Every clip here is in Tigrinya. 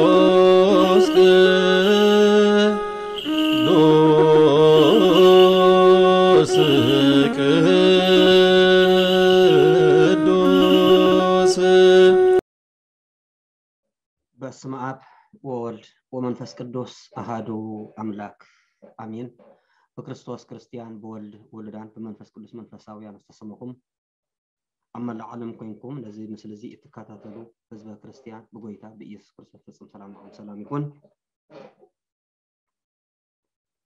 ቅዱስ ቅዱስ ቅዱስ። በስመ አብ ወወልድ ወመንፈስ ቅዱስ አሃዱ አምላክ አሜን። ብክርስቶስ ክርስቲያን፣ ብወልድ ውሉዳን፣ ብመንፈስ ቅዱስ መንፈሳውያን ዝተሰመኹም፣ ኣብ መላእ ዓለም ኮይንኩም ነዚ ምስሊ እዚ እትከታተሉ ህዝበ ክርስቲያን፣ ብጎይታ ብኢየሱስ ክርስቶስ ፍጹም ሰላም ንዓኹም ሰላም ይኹን።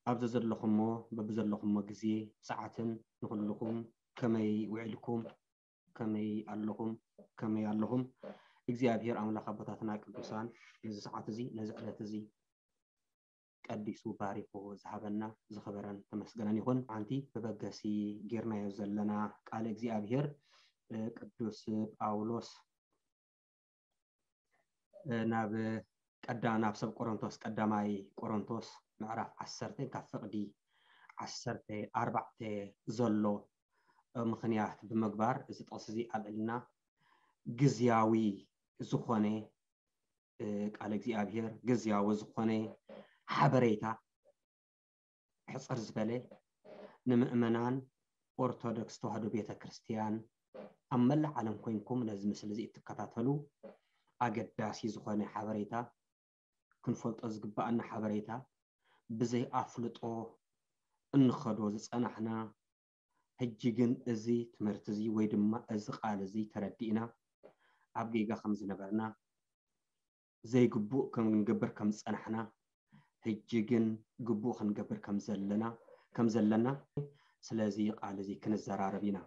ኣብዚ ዘለኹሞ፣ በብዘለኹሞ ግዜ ሰዓትን ንኹልኹም ከመይ ውዒልኩም፣ ከመይ ኣለኹም፣ ከመይ ኣለኹም? እግዚኣብሔር ኣምላኽ ኣቦታትና ቅዱሳን ነዚ ሰዓት እዚ፣ ነዚ ዕለት እዚ ቀዲሱ ባሪኹ ዝሃበና ዝኸበረን ተመስገነን ይኹን። ሓንቲ መበገሲ ጌርናዮ ዘለና ቃለ እግዚኣብሔር፣ እ፣ ቅዱስ ጳውሎስ፣ እ፣ ናብ ቀዳ-፣ ናብ ሰብ ቆሮንቶስ፣ ቀዳማይ ቆሮንቶስ ምዕራፍ ዓሰርተ ካብ ፍቕዲ ዓሰርተ ኣርባዕተ ዘሎ፣ እ፣ ምኽንያት ብምግባር እዚ ጥቕሲ እዚ ኣልዒልና ግዝያዊ ዝኾነ፣ እ፣ ቃለ እግዚኣብሔር፣ ግዝያዊ ዝኾነ ሓበሬታ፣ ሕጽር ዝበለ ንምእመናን ኦርቶዶክስ ተዋህዶ ቤተ ክርስቲያን ኣብ መላእ ዓለም ኮይንኩም ነዚ ምስሊ እዚ እትከታተሉ ኣገዳሲ ዝኾነ ሓበሬታ፣ ክንፈልጦ ዝግባኣና ሓበሬታ፣ ብዘይ ኣፍልጦ እንኸዶ ዝጸናሕና፣ ሕጂ ግን እዚ ትምህርቲ እዚ ወይ ድማ እዚ ቃል እዚ ተረዲእና፣ ኣብ ጌጋ ከም ዝነበርና፣ ዘይግቡእ ከም ክንገብር ከም ዝጸናሕና፣ ሕጂ ግን ግቡእ ክንገብር ከም ዘለና፣ ከም ዘለና፣ ስለዚ ቃል እዚ ክንዘራረብ ኢና።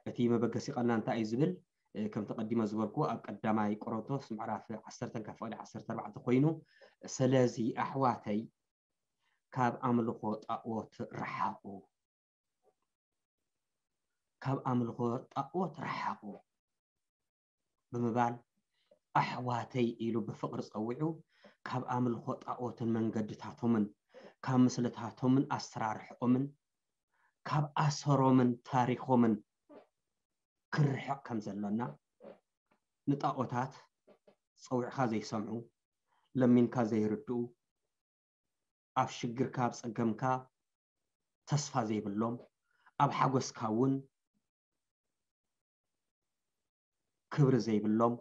እቲ መበገሲ ቃልና እንታይ እዩ ዝብል? እ፣ ከምቲ ቀዲመ ዝበልኩ፣ ኣብ ቀዳማይ ቆሮንቶስ ምዕራፍ ዓሰርተ ካብ ፍቕዲ ዓሰርተ ኣርባዕተ ኮይኑ፣ ስለዚ ኣሕዋተይ፣ ካብ ኣምልኾ ጣኦት ረሓቑ፣ ካብ ኣምልኾ ጣኦት ረሓቑ ብምባል፣ ኣሕዋተይ ኢሉ ብፍቕሪ ጸዊዑ፣ ካብ ኣምልኾ ጣኦትን መንገድታቶምን፣ ካብ ምስልታቶምን ኣሰራርሕኦምን፣ ካብ ኣሰሮምን ታሪኾምን ክርሕቕ ከም ዘሎና፣ ንጣኦታት ጸዊዕካ ዘይሰምዑ፣ ለሚንካ ዘይርድኡ፣ ኣብ ሽግርካ፣ ኣብ ጸገምካ ተስፋ ዘይብሎም፣ ኣብ ሓጎስካ እውን ክብሪ ዘይብሎም፣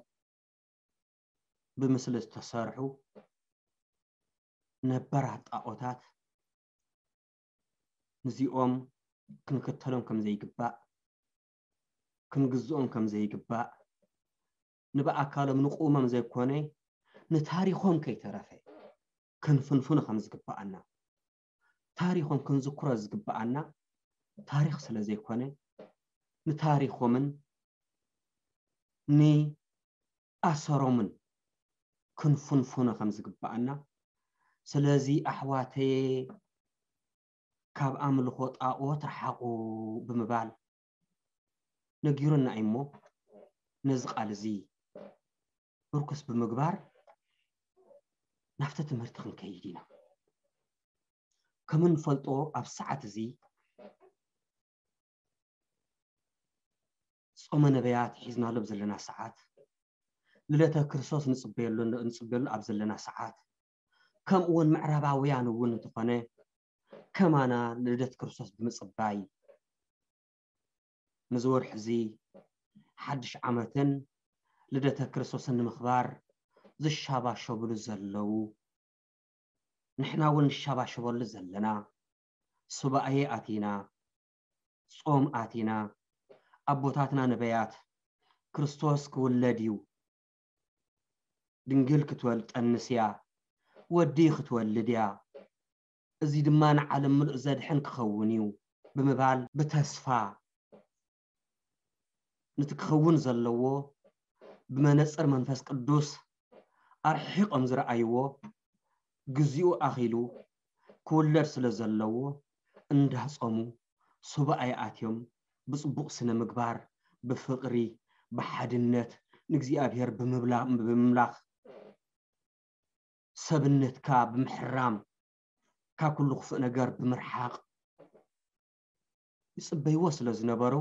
ብምስሊ ዝተሰርሑ ነበራት ጣኦታት፣ ንዚኦም ክንክተሎም ከም ዘይግባእ፣ ክንግዝኦም ከም ዘይግባእ፣ ንብኣካሎም ንቁሞም ዘይኮነ፣ ንታሪኾም ከይተረፈ ክንፍንፍኖ ከም ዝግባኣና፣ ታሪኾም ክንዝክሮ ዝግባኣና ታሪኽ ስለ ዘይኮነ፣ ንታሪኾምን ንኣሰሮምን ክንፍንፍኖ ከም ዝግባኣና፣ ስለዚ ኣሕዋተየ፣ ካብ ኣምልኾ ጣኦት ረሓቑ ብምባል ነጊሩና እዩ እሞ፣ ነዚ ቃል እዚ ምርኩስ ብምግባር ናብቲ ትምህርቲ ክንከይድ ኢና። ከም እንፈልጦ፣ ኣብ ሰዓት እዚ ጾመ ነቢያት ሒዝናሉ ኣብ ዘለና ሰዓት፣ ልደተ ክርስቶስ ንጽበየሉ፣ ንጽበየሉ ኣብ ዘለና ሰዓት፣ ከምኡ እውን ምዕራባውያን እውን እንተኾነ፣ ከማና ልደት ክርስቶስ ብምጽባይ፣ ነዚ ወርሒ እዚ ሓድሽ ዓመትን ልደተ ክርስቶስን ንምኽባር ዝሻባሸብሉ ዘለዉ፣ ንሕና እውን ንሻባሸበሉ ዘለና፣ ሱባኤ ኣቲና፣ ጾም ኣቲና፣ ኣቦታትና ነበያት፣ ክርስቶስ ክውለድ እዩ፣ ድንግል ክትወልድ ጠንስ እያ፣ ወዲ ክትወልድ እያ፣ እዚ ድማ ንዓለም ምሉእ ዘድሕን ክኸውን እዩ ብምባል፣ ብተስፋ ነቲ ክኸውን ዘለዎ ብመነጽር መንፈስ ቅዱስ ኣርሒቖም ዝረኣይዎ፣ ግዚኡ ኣኺሉ ክውለድ ስለ ዘለዎ፣ እንዳጾሙ ሱባኤ ኣትዮም፣ ብጽቡቕ ስነ ምግባር፣ ብፍቕሪ፣ ብሓድነት፣ ንእግዚኣብሔር ብምብላ-፣ ብምምላኽ፣ ሰብነትካ ብምሕራም፣ ካብ ኩሉ ክፉእ ነገር ብምርሓቕ ይጽበይዎ ስለ ዝነበሩ፣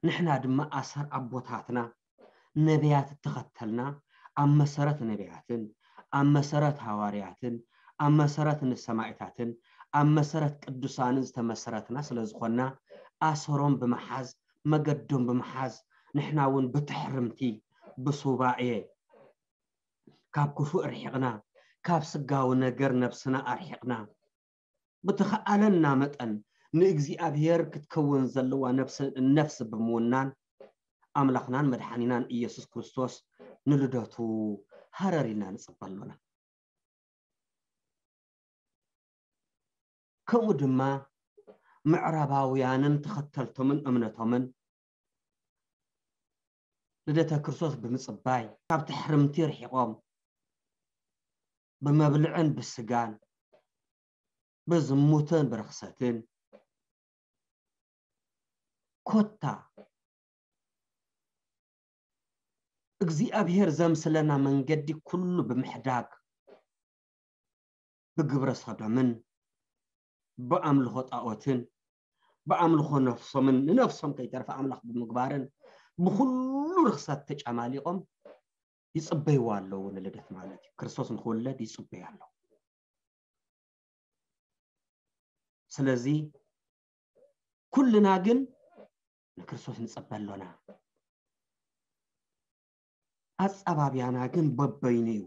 ንሕና ድማ ኣሰር ኣቦታትና ነቢያት እተኸተልና፣ ኣብ መሰረት ነቢያትን ኣብ መሰረት ሃዋርያትን ኣብ መሰረት ንሰማዕታትን ኣብ መሰረት ቅዱሳንን ዝተመሰረትና ስለ ዝኾንና፣ ኣሰሮም ብምሓዝ፣ መገዶም ብምሓዝ፣ ንሕና እውን ብትሕርምቲ፣ ብሱባኤ፣ ካብ ክፉእ ርሒቕና፣ ካብ ስጋዊ ነገር ነብስና ኣርሒቕና፣ ብተኸኣለና መጠን ንእግዚኣብሔር ክትከውን ዘለዋ ነፍሲ፣ ነፍሲ ብምውናን፣ ኣምላኽናን መድሓኒናን ኢየሱስ ክርስቶስ ንልደቱ ሃረር ኢልና ንጽበ ኣሎና። ከምኡ ድማ ምዕራባውያንን ተኸተልቶምን እምነቶምን ልደተ ክርስቶስ ብምጽባይ፣ ካብ ትሕርምቲ ርሒቖም፣ ብመብልዕን ብስጋን፣ ብዝሙትን ብርኽሰትን፣ ኮታ እግዚኣብሔር ዘምስለና መንገዲ ኩሉ ብምሕዳግ፣ ብግብረ ሰዶምን ብኣምልኾ ጣኦትን ብኣምልኾ ነፍሶምን ንነፍሶም ከይተርፈ ኣምላኽ ብምግባርን ብኹሉ ርኽሰት ተጨማሊቖም ይጽበይዎ ኣለዉ። ንልደት ማለት እዩ። ክርስቶስ ንኽውለድ ይጽበዩ ኣለዉ። ስለዚ ኩልና ግን ንክርስቶስ ንጸበ ኣሎና። ኣጸባብያና ግን በበይኑ እዩ።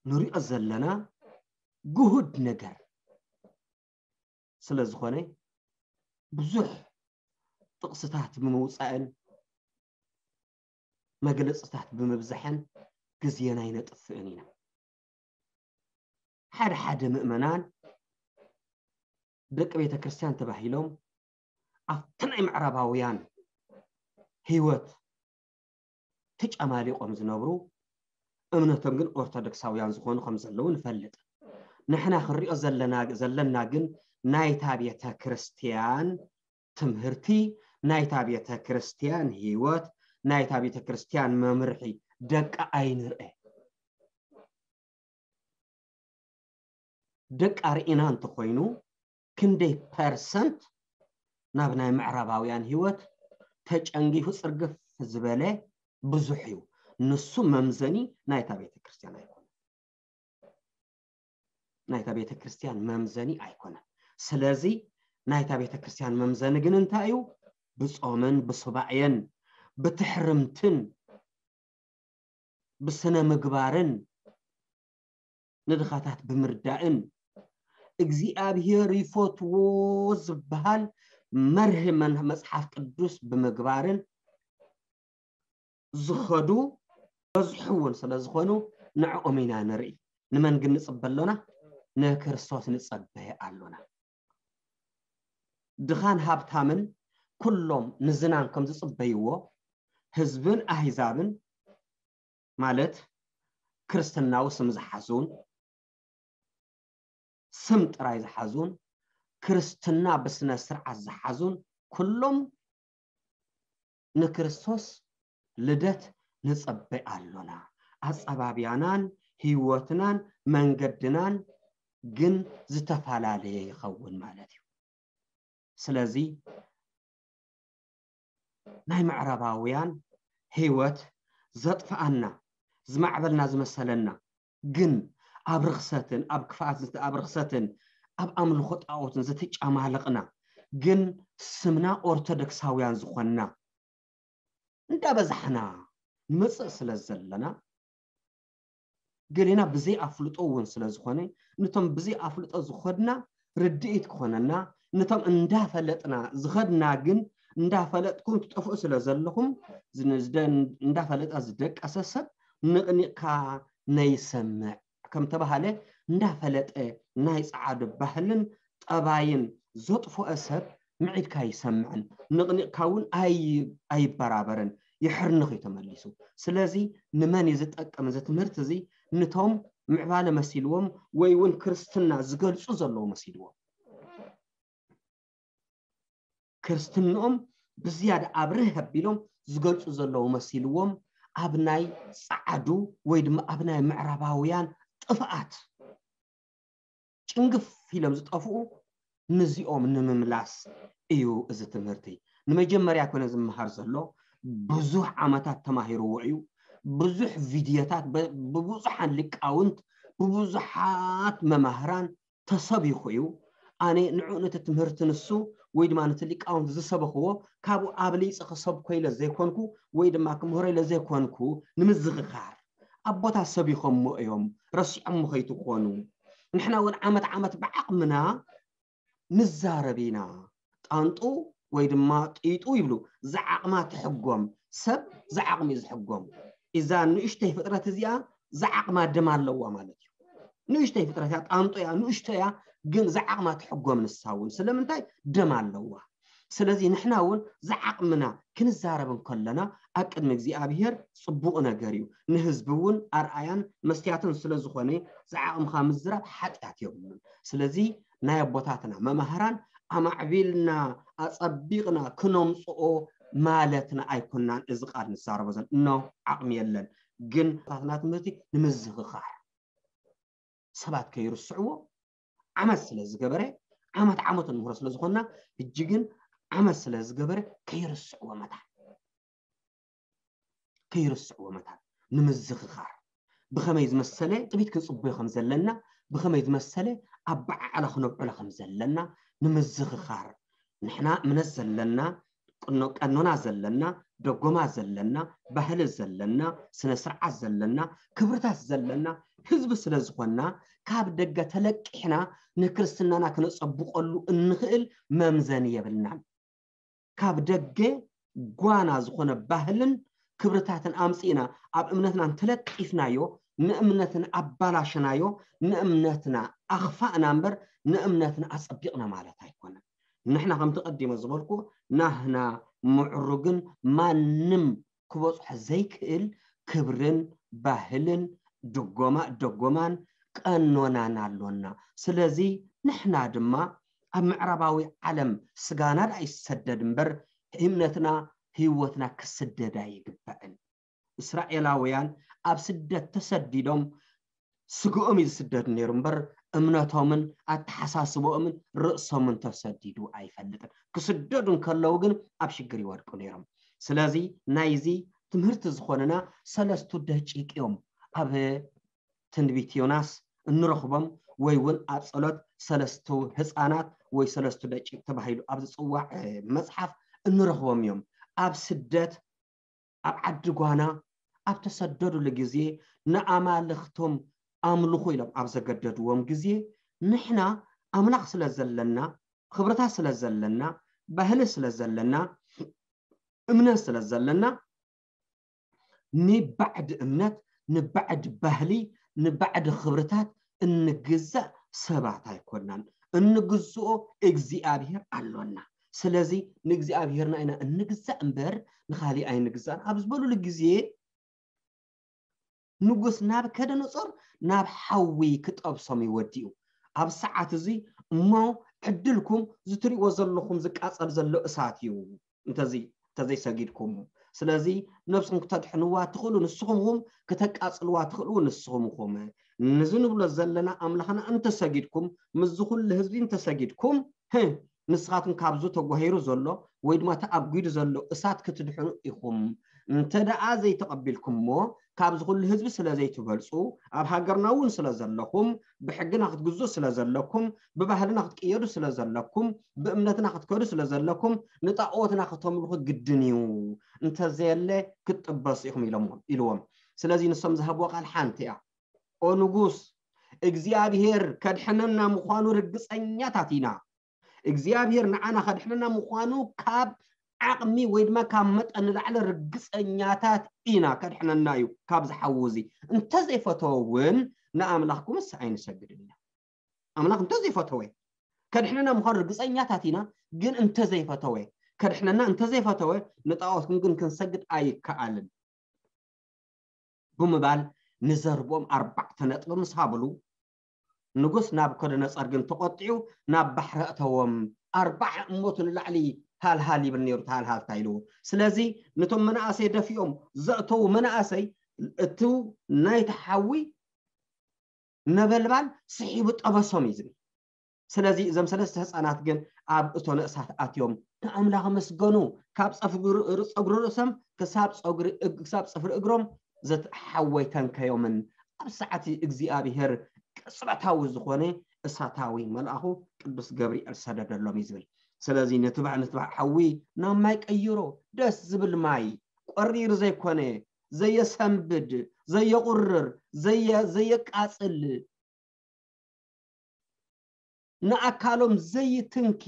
ንሪኦ ዘለና ግሁድ ነገር ስለ ዝኾነ ብዙሕ ጥቕስታት ብምውጻእን መግለጽታት ብምብዛሕን ግዜና ኣይነጥፍእን ኢና። ሓደ ሓደ ምእመናን ደቂ ቤተ ክርስቲያን ተባሂሎም ኣብቲ ናይ ምዕራባውያን ህይወት ተጨማሊቖም ዝነብሩ፣ እምነቶም ግን ኦርቶዶክሳውያን ዝኾኑ ከም ዘለዉ ንፈልጥ። ንሕና ክንሪኦ ዘለና፣ ዘለና ግን ናይታ ቤተ ክርስቲያን ትምህርቲ፣ ናይታ ቤተ ክርስቲያን ህይወት፣ ናይታ ቤተ ክርስቲያን መምርሒ ደቃ ኣይንርአ። ደቃ ርኢና እንተኾይኑ ክንደይ ፐርሰንት ናብ ናይ ምዕራባውያን ህይወት ተጨንጊፉ ጽርግፍ ዝበለ ብዙሕ እዩ። ንሱ መምዘኒ ናይታ ቤተ ክርስቲያን ኣይኮነን። ናይታ ቤተ ክርስቲያን መምዘኒ ኣይኮነን። ስለዚ ናይታ ቤተ ክርስቲያን መምዘኒ ግን እንታይ እዩ? ብጾምን ብሱባኤን ብትሕርምትን ብስነ ምግባርን ንድኻታት ብምርዳእን እግዚኣብሔር ይፈትዎ ዝበሃል መርህ መን-፣ መጽሓፍ ቅዱስ ብምግባርን ዝኸዱ በዝሑ እውን ስለ ዝኾኑ ንዕኦም ኢና ንርኢ። ንመን ግን ንጽበ ኣሎና? ንክርስቶስ ንጸበ ኣሎና። ድኻን ሃብታምን ኩሎም ንዝናን ከም ዝጽበይዎ ህዝብን ኣህዛብን ማለት ክርስትናዊ ስም ዝሓዙን ስም ጥራይ ዝሓዙን ክርስትና ብስነ ስርዓት ዝሓዙን ኩሎም ንክርስቶስ ልደት ንጸበ ኣሎና። ኣጸባብያናን ህይወትናን መንገድናን ግን ዝተፈላለየ ይኸውን ማለት እዩ። ስለዚ ናይ ምዕራባውያን ህይወት ዘጥፍኣና፣ ዝማዕበልና ዝመሰለና፣ ግን ኣብ ርኽሰትን ኣብ ክፍኣት ዝተ-፣ ኣብ ርኽሰትን ኣብ ኣምልኾ ጣኦትን ዝተጫማለቕና፣ ግን ስምና ኦርቶዶክሳውያን ዝኾንና እንዳበዛሕና ንመጽእ ስለ ዘለና፣ ገሌና ብዘይ ኣፍልጦ እውን ስለ ዝኾነ፣ ነቶም ብዘይ ኣፍልጦ ዝኸድና ርድኢት ክኾነና፣ ነቶም እንዳፈለጥና ዝኸድና ግን እንዳፈለጥኩም ትጠፍኡ ስለ ዘለኹም፣ ዝን-፣ ዝደ-፣ እንዳፈለጠ ዝደቀሰ ሰብ ንቕኒቕካ ነይሰምዕ ከም ተባሃለ፣ እንዳፈለጠ ናይ ጸዓዱ ባህልን ጠባይን ዘጥፍኦ ሰብ ምዒድካ ኣይሰምዕን፣ ንቕኒቕካ እውን ኣይ-፣ ኣይበራበርን፣ ይሕርንኽ እዩ ተመሊሱ። ስለዚ ንመን እዩ ዝጠቅም እዚ ትምህርቲ እዚ? ንቶም ምዕባለ መሲልዎም ወይ እውን ክርስትና ዝገልጹ ዘለዉ መሲልዎም። ክርስትንኦም ብዝያዳ ኣብርህ ኣቢሎም ዝገልጹ ዘለዉ መሲልዎም ኣብ ናይ ጸዓዱ ወይ ድማ ኣብ ናይ ምዕራባውያን ጥፍኣት ጭንግፍ ኢሎም ዝጠፍኡ ንዚኦም ንምምላስ እዩ እዚ ትምህርቲ። ንመጀመርያ ኮነ ዝመሃር ዘሎ ብዙሕ ዓመታት ተማሂርዎ እዩ። ብዙሕ ቪድዮታት በ- ብብዙሓን ሊቃውንት ብብዙሓት መማህራን ተሰቢኹ እዩ። ኣነ ንዑ ነቲ ትምህርቲ ንሱ ወይ ድማ ነቲ ሊቃውንት ዝሰበኽዎ ካብኡ ኣብሊፀ ክሰብኮ ኢለ ዘይኮንኩ ወይ ድማ ክምህሮ ኢለ ዘይኮንኩ ንምዝኽኻር ኣቦታት ሰቢኾሞ እዮም። ረሲዖሞ ከይትኾኑ ንሕና እውን ዓመት ዓመት ብዓቕምና ንዛረብ ኢና። ጣንጡ ወይ ድማ ጢጡ ይብሉ። ዝዓቕማ ትሕጎም። ሰብ ዝዓቕሙ እዩ ዝሕጎም። እዛ ንእሽተይ ፍጥረት እዚኣ ዝዓቕማ ደም ኣለዋ ማለት እዩ። ንእሽተይ ፍጥረት እያ፣ ጣንጡ እያ፣ ንእሽቶ እያ፣ ግን ዝዓቕማ ትሕጎም ንሳ እውን። ስለምንታይ? ደም ኣለዋ። ስለዚ ንሕና እውን ዝዓቕምና ክንዛረብ እንከለና ኣብ ቅድሚ እግዚኣብሔር ጽቡቕ ነገር እዩ። ንህዝቢ እውን ኣርኣያን መስትያትን ስለ ዝኾነ ዝዓቕምኻ ምዝራብ ሓጢኣት የብሉን። ስለዚ ናይ ኣቦታትና መማህራን ኣማዕቢልና ኣጸቢቕና ክነምጽኦ ማለትና ኣይኮናን። እዚ ቃል ንዛረቦ ዘል እኖ ዓቕሚ የለን፣ ግን ኣቦታትና ትምህርቲ ንምዝኽኻር ሰባት ከይርስዕዎ ዓመት ስለ ዝገበረ ዓመት ዓመት እንምህሮ ስለ ዝኾንና ሕጂ ግን ዓመት ስለ ዝገበረ ከይርስዕዎ መታን ከይርስዕዎ መታን ንምዝኽኻር ብኸመይ ዝመሰለ ጥቢት ክንጽበዮ ከም ዘለና ብኸመይ ዝመሰለ ኣበዓዕላ ክነብዕሎ ከም ዘለና ንምዝኽኻር ንሕና እምነት ዘለና ቀኖና ዘለና ደጎማ ዘለና ባህሊ ዘለና ስነ ስርዓት ዘለና ክብርታት ዘለና ህዝቢ ስለ ዝኾንና ካብ ደገ ተለቂሕና ንክርስትናና ክነጸብቐሉ እንኽእል መምዘኒ የብልናን። ካብ ደገ ጓና ዝኾነ ባህልን ክብርታትን ኣምጺእና ኣብ እምነትና እንተለጢፍናዮ ንእምነትና ኣባላሸናዮ ንእምነትና ኣኽፋእና እምበር ንእምነትና ኣጸቢቕና ማለት ኣይኮነን። ንሕና ከምቲ ቀዲመ ዝበልኩ ናህና ምዕሩግን ማንም ክበጽሖ ዘይክእል ክብርን ባህልን ድጎማ ደጎማን ቀኖናን ኣሎና። ስለዚ ንሕና ድማ ኣብ ምዕራባዊ ዓለም ስጋና ደኣ ይሰደድ እምበር እምነትና ህይወትና ክስደድ ኣይግባእን። እስራኤላውያን ኣብ ስደት ተሰዲዶም ስግኦም እዩ ዝስደድ ነይሩ እምበር እምነቶምን ኣተሓሳስቦኦምን ርእሶምን ተሰዲዱ ኣይፈልጥን። ክስደዱ እንከለዉ ግን ኣብ ሽግር ይወድቁ ነይሮም። ስለዚ ናይዚ ትምህርቲ ዝኾነና ሰለስቱ ደቂቅ እዮም ኣብ ትንቢት ዮናስ እንረኽቦም ወይ እውን ኣብ ጸሎት ሰለስቱ ህፃናት ወይ ሰለስቱ ደቂቅ ተባሂሉ ኣብ ዝፅዋዕ መፅሓፍ እንረኽቦም እዮም። ኣብ ስደት ኣብ ዓዲ ጓና ኣብ ተሰደዱሉ ግዜ ንኣማልኽቶም ኣምልኹ ኢሎም ኣብ ዘገደድዎም ግዜ ንሕና ኣምላኽ ስለ ዘለና ክብርታት ስለ ዘለና ባህሊ ስለ ዘለና እምነት ስለ ዘለና ንባዕዲ እምነት ንባዕዲ ባህሊ ንባዕዲ ክብርታት እንግዛእ ሰባት ኣይኮናን። እንግዝኦ እግዚኣብሔር ኣሎና። ስለዚ ንእግዚኣብሔርና ኢና እንግዛእ እምበር ንኻሊእ ኣይንግዛእን ኣብ ዝበሉሉ ግዜ ንጉስ ናብከደነጾር ናብ ሓዊ ክጠብሶም እዩ ወዲኡ። ኣብ ሰዓት እዚ እሞ ዕድልኩም ዝትሪእዎ ዘለኹም ዝቃጸል ዘሎ እሳት እዩ እንተዘይ እንተዘይሰጊድኩም። ስለዚ ነብስኹም ክተድሕንዋ ትኽእሉ ንስኹም ኹም፣ ክተቃጽልዋ ትኽእሉ ንስኹም ኹም። ንዚ ንብሎ ዘለና ኣምላኽና እንተሰጊድኩም ምስዚ ኩሉ ህዝቢ እንተሰጊድኩም ንስኻትኩም ካብዚ ተጓሂሩ ዘሎ ወይ ድማ እቲ ኣብ ጉዲ ዘሎ እሳት ክትድሕኑ ኢኹም። እንተ ደኣ ዘይተቐቢልኩምሞ ካብዚ ኩሉ ህዝቢ ስለ ዘይትበልጹ ኣብ ሃገርና እውን ስለ ዘለኹም ብሕግና ክትግዙ ስለ ዘለኩም ብባህልና ክትቅየዱ ስለ ዘለኩም ብእምነትና ክትከዱ ስለ ዘለኩም ንጣኦትና ከተምልኹ ግድን እዩ። እንተዘየለ ክትጥበሱ ኢኹም ኢሎሞ ኢልዎም። ስለዚ ንሶም ዝሃብዎ ቃል ሓንቲ እያ። ኦ ንጉስ እግዚኣብሔር ከድሕነና ምዃኑ ርግጸኛታት ኢና። እግዚኣብሔር ንዓና ከድሕነና ምዃኑ ካብ ዓቕሚ ወይ ድማ ካብ መጠን ንላዕሊ ርግጸኛታት ኢና። ከድሕነና እዩ ካብ ዝሓዊ እዚ። እንተዘይፈተወ እውን ንኣምላኽኩምስ ኣይንሰግድን ኢና። ኣምላኽ እንተዘይፈተወ ከድሕነና ምዃኑ ርግጸኛታት ኢና። ግን እንተዘይፈተወ ከድሕነና እንተዘይፈተወ ንጣዖትኩም ግን ክንሰግድ ኣይከኣልን። ብምባል ንዘርብኦም ኣርባዕተ ነጥቢ ምስ ሃብሉ ንጉስ ናብኮደነጸር ግን ተቆጢዑ ናብ ባሕሪ ኣእተዎም። ኣርባዓ እሞቱ ንላዕሊ ሃልሃል ይብል ነይሩ ተሃልሃልታ ኢልዎ። ስለዚ ነቶም መናእሰይ ደፊኦም ዘእተዉ መናእሰይ እቱ ናይቲ ሓዊ ነበልባል ስሒቡ ጠበሶም እዩ ዝብል። ስለዚ እዞም ሰለስተ ህፃናት ግን ኣብ እቶነ እሳት ኣትዮም ንኣምላኽ ኣመስገኑ። ካብ ፀፍሪ ፀጉሪ ርእሶም ክሳብ ፀጉሪ እግ- ክሳብ ፅፍሪ እግሮም ዘትሓወይ ተንከዮምን ኣብ ሰዓቲ እግዚኣብሔር ቅጽበታዊ ዝኾነ እሳታዊ መልኣኹ ቅዱስ ገብርኤል ሰደደሎም እዩ ዝብል። ስለዚ ነቲ ባዕ ነቲ ባዕ ሓዊ ናብ ማይ ቀይሮ፣ ደስ ዝብል ማይ፣ ቆሪር ዘይኮነ፣ ዘየሰንብድ፣ ዘየቑርር፣ ዘየ ዘየቃጽል፣ ንኣካሎም ዘይትንኪ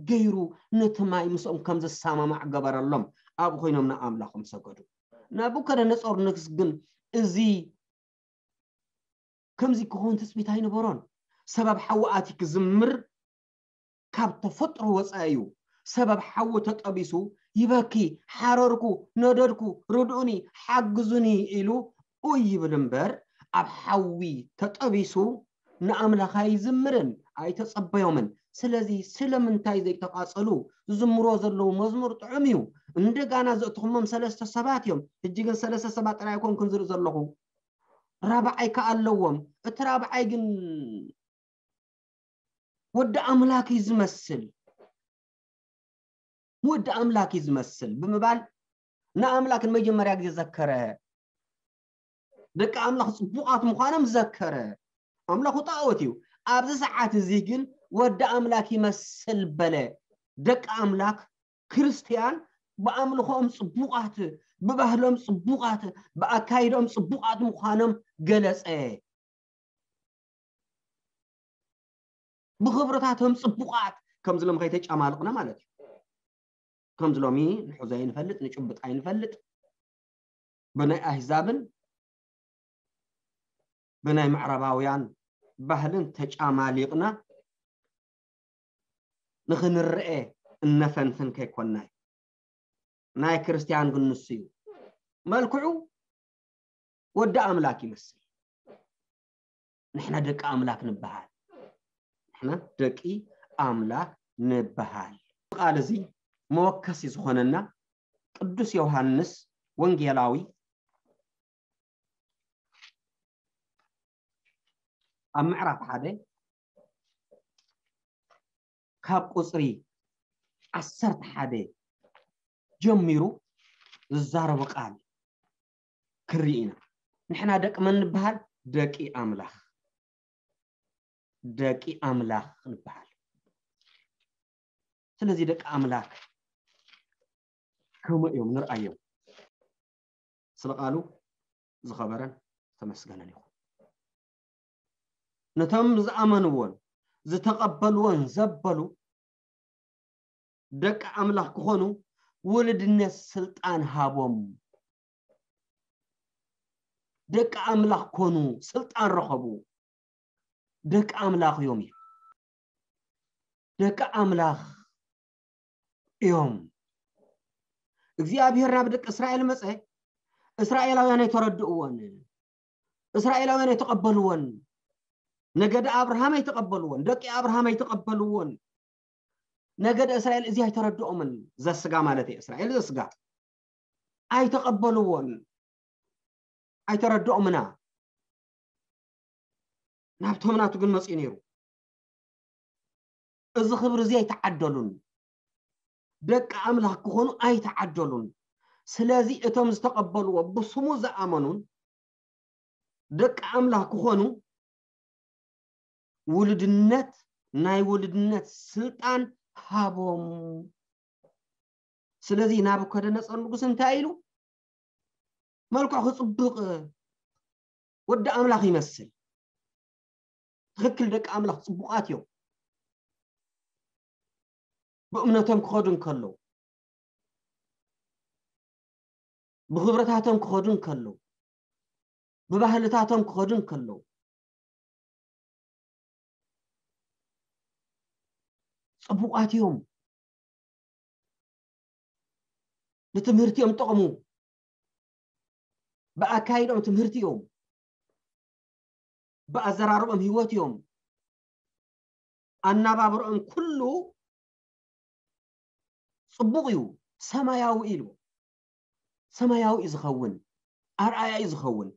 ገይሩ ነቲ ማይ ምስኦም ከም ዝሰማማዕ ገበረሎም። ኣብኡ ኮይኖም ንኣምላኾም ሰገዱ። ናቡከደነጾር ንግስ ግን እዚ ከምዚ ክኸውን ትጽቢት ኣይነበሮን። ሰበብ ሓዊ ኣቲ ክዝምር ካብ ተፈጥሮ ወፃኢ እዩ። ሰበብ ሓዊ ተጠቢሱ ይበኪ፣ ሓረርኩ፣ ነደድኩ፣ ርድኡኒ፣ ሓግዙኒ ኢሉ ኡይ ይብል እምበር ኣብ ሓዊ ተጠቢሱ ንኣምላኽ ኣይዝምርን ኣይተጸበዮምን። ስለዚ ስለምንታይ ዘይተቓጸሉ? ዝዝምሮ ዘለዉ መዝሙር ጥዑም እዩ። እንደጋና ዘእትኹሞም ሰለስተ ሰባት እዮም። ሕጂ ግን ሰለስተ ሰባት ጥራይ ኣይኮንኩን ዝርኢ ዘለኹ፣ ራብዓይ ከኣ ኣለዎም። እቲ ራብዓይ ግን ወዲ ኣምላክ እዩ ዝመስል። ወዲ ኣምላክ እዩ ዝመስል ብምባል ንኣምላክ ንመጀመርያ ግዜ ዘከረ። ደቂ ኣምላኽ ጽቡቓት ምዃኖም ዘከረ። ኣምላኹ ጣዖት እዩ። ኣብዚ ሰዓት እዚ ግን ወዲ ኣምላክ ይመስል በለ። ደቂ ኣምላክ ክርስትያን ብኣምልኾኦም ጽቡቓት፣ ብባህሎም ጽቡቓት፣ ብኣካይዶኦም ጽቡቓት ምዃኖም ገለጸ። ብኽብርታቶም ጽቡቓት ከምዚ ሎም ከይተጫማልቕና ማለት እዩ። ከምዚ ሎሚ ንሕዞ ኣይንፈልጥ፣ ንጭብጥ ኣይንፈልጥ። ብናይ ኣህዛብን ብናይ ምዕራባውያን ባህልን ተጫማሊቕና ንኽንርኤ እነፈንፍን ከይኮናይ። ናይ ክርስትያን ግን ንሱ እዩ። መልክዑ ወዲ ኣምላክ ይመስል። ንሕና ደቂ ኣምላክ ንበሃል። ንሕና ደቂ ኣምላክ ንበሃል። ቃል እዚ መወከሲ ዝኾነና ቅዱስ ዮሃንስ ወንጌላዊ ኣብ ምዕራፍ ሓደ ካብ ቁጽሪ ዓሰርተ ሓደ ጀሚሩ ዝዛረቦ ቃል ክርኢ ኢና። ንሕና ደቂ መን ንበሃል? ደቂ ኣምላኽ። ደቂ ኣምላኽ ንበሃል። ስለዚ ደቂ ኣምላኽ ከምኡ እዮም፣ ንርኣዮም። ስለ ቃሉ ዝኸበረን ዝተመስገነን ይኹን። ነቶም ዝኣመንዎን ዝተቐበልዎን ዘበሉ ደቂ ኣምላኽ ክኾኑ ውልድነት ስልጣን ሃቦም። ደቂ ኣምላኽ ኮኑ፣ ስልጣን ረኸቡ። ደቂ ኣምላኽ እዮም እዩ። ደቂ ኣምላኽ እዮም። እግዚኣብሔር ናብ ደቂ እስራኤል መጸ፣ እስራኤላውያን ኣይተረድእዎን። እስራኤላውያን ኣይተቐበልዎን። ነገደ ኣብርሃም ኣይተቐበልዎን። ደቂ ኣብርሃም ኣይተቐበልዎን። ነገደ እስራኤል እዚ ኣይተረድኦምን። ዘስጋ ማለት እዩ፣ እስራኤል ዘስጋ ኣይተቐበልዎን። ኣይተረድኦምና። ናብቶም ናቱ ግን መጽኡ ነይሩ። እዚ ክብሪ እዚ ኣይተዓደሉን። ደቂ ኣምላኽ ክኾኑ ኣይተዓደሉን። ስለዚ እቶም ዝተቐበልዎ ብስሙ ዝኣመኑን ደቂ ኣምላኽ ክኾኑ ውልድነት፣ ናይ ውልድነት ስልጣን ሃቦም። ስለዚ ናቡከደነጾር ንጉስ እንታይ ኢሉ? መልክዑ ክጽብቕ ወዲ ኣምላኽ ይመስል። ትኽክል፣ ደቂ ኣምላኽ ጽቡቓት እዮም። ብእምነቶም ክኸዱ እንከለዉ፣ ብኽብረታቶም ክኸዱ እንከለዉ፣ ብባህልታቶም ክኸዱ እንከለዉ፣ ጽቡቓት እዮም። ንትምህርቲ እዮም ጠቕሙ። ብኣካይዶም ትምህርቲ እዮም። ብኣዘራርቦም ህይወት እዮም። ኣናባብርኦም ኩሉ ጽቡቕ እዩ። ሰማያዊ ኢሉ ሰማያዊ እዩ ዝኸውን፣ ኣርኣያ እዩ ዝኸውን።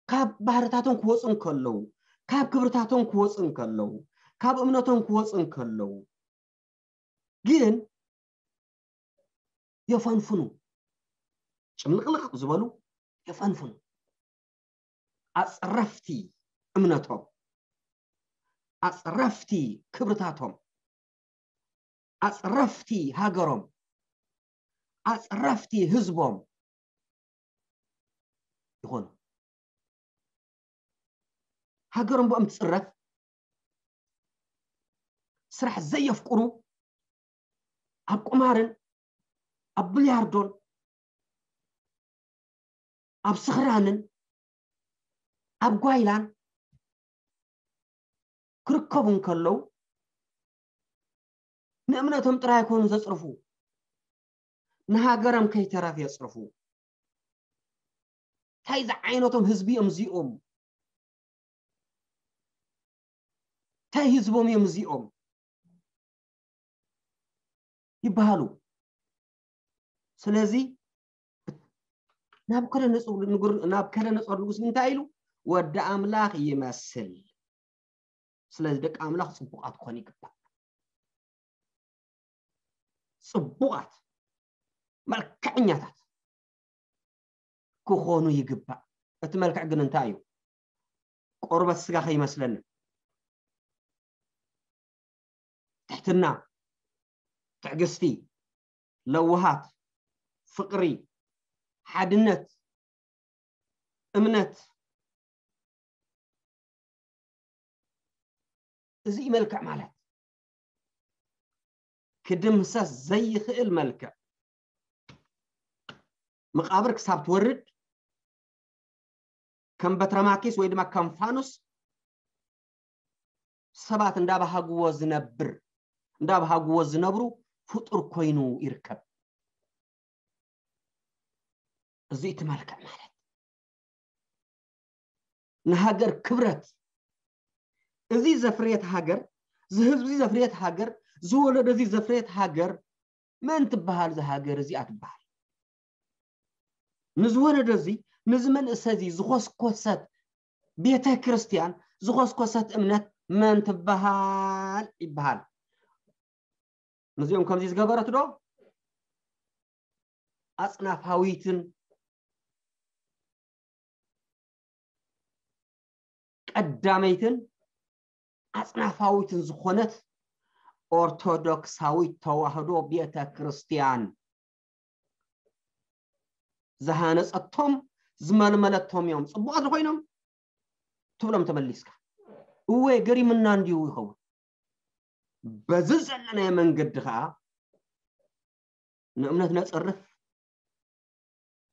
ካብ ባህርታቶም ክወፁ እንከለዉ፣ ካብ ክብርታቶም ክወፁ እንከለዉ፣ ካብ እምነቶም ክወፁ እንከለዉ ግን የፈንፍኑ። ጭምልቕልቕ ዝበሉ የፈንፍኑ። ኣፅረፍቲ እምነቶም፣ ኣፅረፍቲ ክብርታቶም፣ ኣፅረፍቲ ሃገሮም፣ ኣፅረፍቲ ህዝቦም ይኾኑ። ሃገሮም ብኦም ትፅረፍ። ስራሕ ዘየፍቅሩ፣ ኣብ ቁማርን ኣብ ብልያርዶን ኣብ ስኽራንን ኣብ ጓይላን ክርከቡ እንከለዉ ንእምነቶም ጥራይ ኣይኮኑ ዘፅርፉ፣ ንሃገሮም ከይተረፍ የፅርፉ። እንታይ ዝዓይነቶም ህዝቢ እዮም እዚኦም? እንታይ ህዝቦም እዮም እዚኦም ይበሃሉ። ስለዚ ናቡከደነፆር ንጉር-፣ ናቡከደነፆር ንጉስ እንታይ ኢሉ? ወዲ ኣምላኽ ይመስል። ስለዚ ደቂ ኣምላኽ ፅቡቓት ክኾኑ ይግባእ። ፅቡቓት፣ መልክዐኛታት ክኾኑ ይግባእ። እቲ መልክዕ ግን እንታይ እዩ? ቆርበት ስጋ ከይመስለና። ትሕትና፣ ትዕግስቲ፣ ለውሃት፣ ፍቕሪ፣ ሓድነት፣ እምነት፣ እዚ እዩ መልክዕ ማለት። ክድምሰስ ዘይኽእል መልክዕ። መቓብር ክሳብ ትወርድ ከም በትረማኪስ ወይ ድማ ከም ፋኑስ ሰባት እንዳባሃግዎ ዝነብር፣ እንዳባሃግዎ ዝነብሩ ፍጡር ኮይኑ ይርከብ። እዚ እቲ መልክዕ ማለት። ንሃገር ክብረት፣ እዚ ዘፍርየት ሃገር፣ እዚ ህዝቢ ዘፍርየት ሃገር፣ ዝወለደ እዚ ዘፍርየት ሃገር መን ትበሃል? እዚ ሃገር እዚኣ ትበሃል። ንዝወለደ እዚ፣ ንዚ መንእሰ እዚ ዝኾስኮሰት ቤተ ክርስቲያን፣ ዝኾስኮሰት እምነት መን ትበሃል ይበሃል። ነዚኦም ከምዚ ዝገበረት ዶ? ኣጽናፋዊትን ቀዳመይትን ኣጽናፋዊትን ዝኾነት ኦርቶዶክሳዊት ተዋህዶ ቤተ ክርስቲያን ዝሃነጸቶም ዝመልመለቶም እዮም። ጽቡቓት ዶ ኮይኖም ትብሎም ተመሊስካ። እወ፣ ገሪምና እንዲዩ ይኸውን። በዚ ዘለናዮ መንገዲ ኸኣ ንእምነት ነጽርፍ፣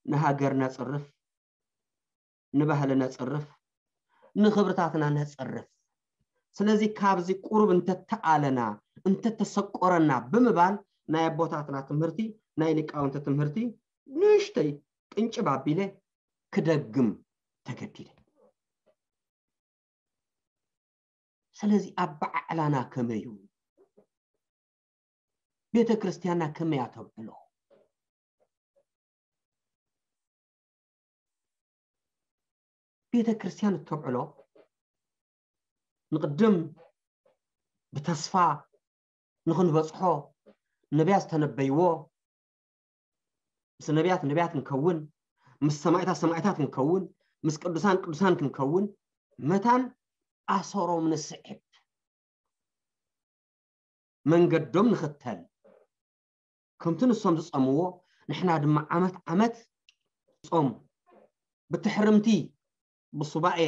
ንሃገር ነጽርፍ፣ ንባህሊ ነጽርፍ፣ ንኽብርታትና ነጽርፍ። ስለዚ ካብዚ ቁሩብ እንተተኣለና፣ እንተተሰቆረና ብምባል ናይ ኣቦታትና ትምህርቲ፣ ናይ ሊቃውንቲ ትምህርቲ ንእሽተይ ቅንጭብ ኣቢለ ክደግም ተገዲደ። ስለዚ ኣበዓዕላና ከመይ እዩ? ቤተ ክርስቲያንና ከመይ እያ ተብዕሎ? ቤተ ክርስቲያን እተብዕሎ ንቕድም ብተስፋ ንኽንበጽሖ ነቢያት ዝተነበይዎ፣ ምስ ነቢያት ነቢያት ክንከውን፣ ምስ ሰማዕታት ሰማዕታት ክንከውን፣ ምስ ቅዱሳን ቅዱሳን ክንከውን መታን ኣሰሮም ንስዕብ፣ መንገዶም ንኽተል። ከምቲ ንሶም ዝጸምዎ ንሕና ድማ ዓመት ዓመት ጾም ብትሕርምቲ ብሱባኤ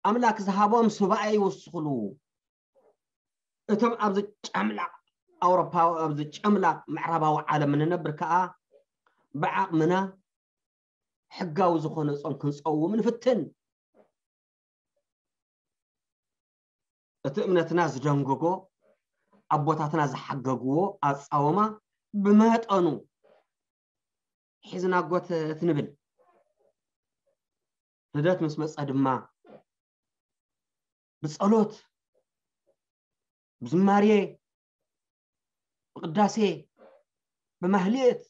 ኣምላክ ዝሃቦም ሱባኤ ይውስኽሉ። እቶም ኣብዚ ጨምላቕ ኣውሮፓዊ፣ ኣብዚ ጨምላቕ ምዕራባዊ ዓለም እንነብር ከኣ ብዓቕምና ሕጋዊ ዝኾነ ጾም ክንጸውም ንፍትን። እቲ እምነትና ዝደንገጎ ኣቦታትና ዝሓገግዎ ኣጻወማ ብመጠኑ ሒዝና ጎተት ንብል። ልደት ምስ መጸ ድማ ብጸሎት፣ ብዝማሬ፣ ብቅዳሴ፣ ብማህሌት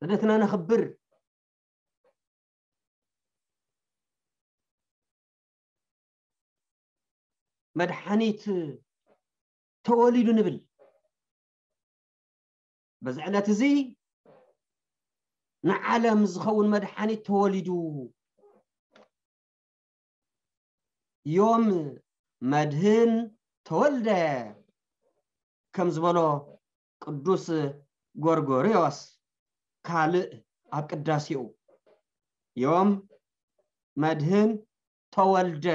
ልደትና ነኽብር። መድሓኒት ተወሊዱ ንብል። በዚ ዕለት እዚ ንዓለም ዝኸውን መድሓኒት ተወሊዱ። ዮም መድህን ተወልደ ከም ዝበሎ ቅዱስ ጎርጎርዮስ ካልእ ኣብ ቅዳሴኡ፣ ዮም መድህን ተወልደ፣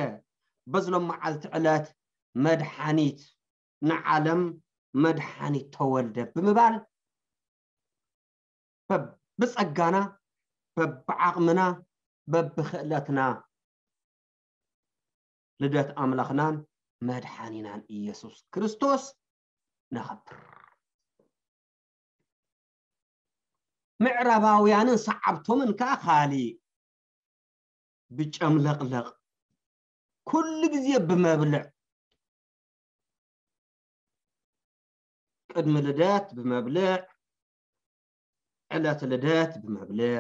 በዝሎም መዓልቲ ዕለት መድሓኒት ንዓለም መድሓኒት ተወልደ ብምባል በብጸጋና፣ በብዓቕምና፣ በብኽእለትና ልደት ኣምላኽናን መድሓኒናን ኢየሱስ ክርስቶስ ነኸብር። ምዕራባውያንን ሰዓብቶምን ከኣ ካሊእ ብጨምለቕለቕ፣ ኩሉ ግዜ ብመብልዕ፣ ቅድሚ ልደት ብመብልዕ፣ ዕለት ልደት ብመብልዕ፣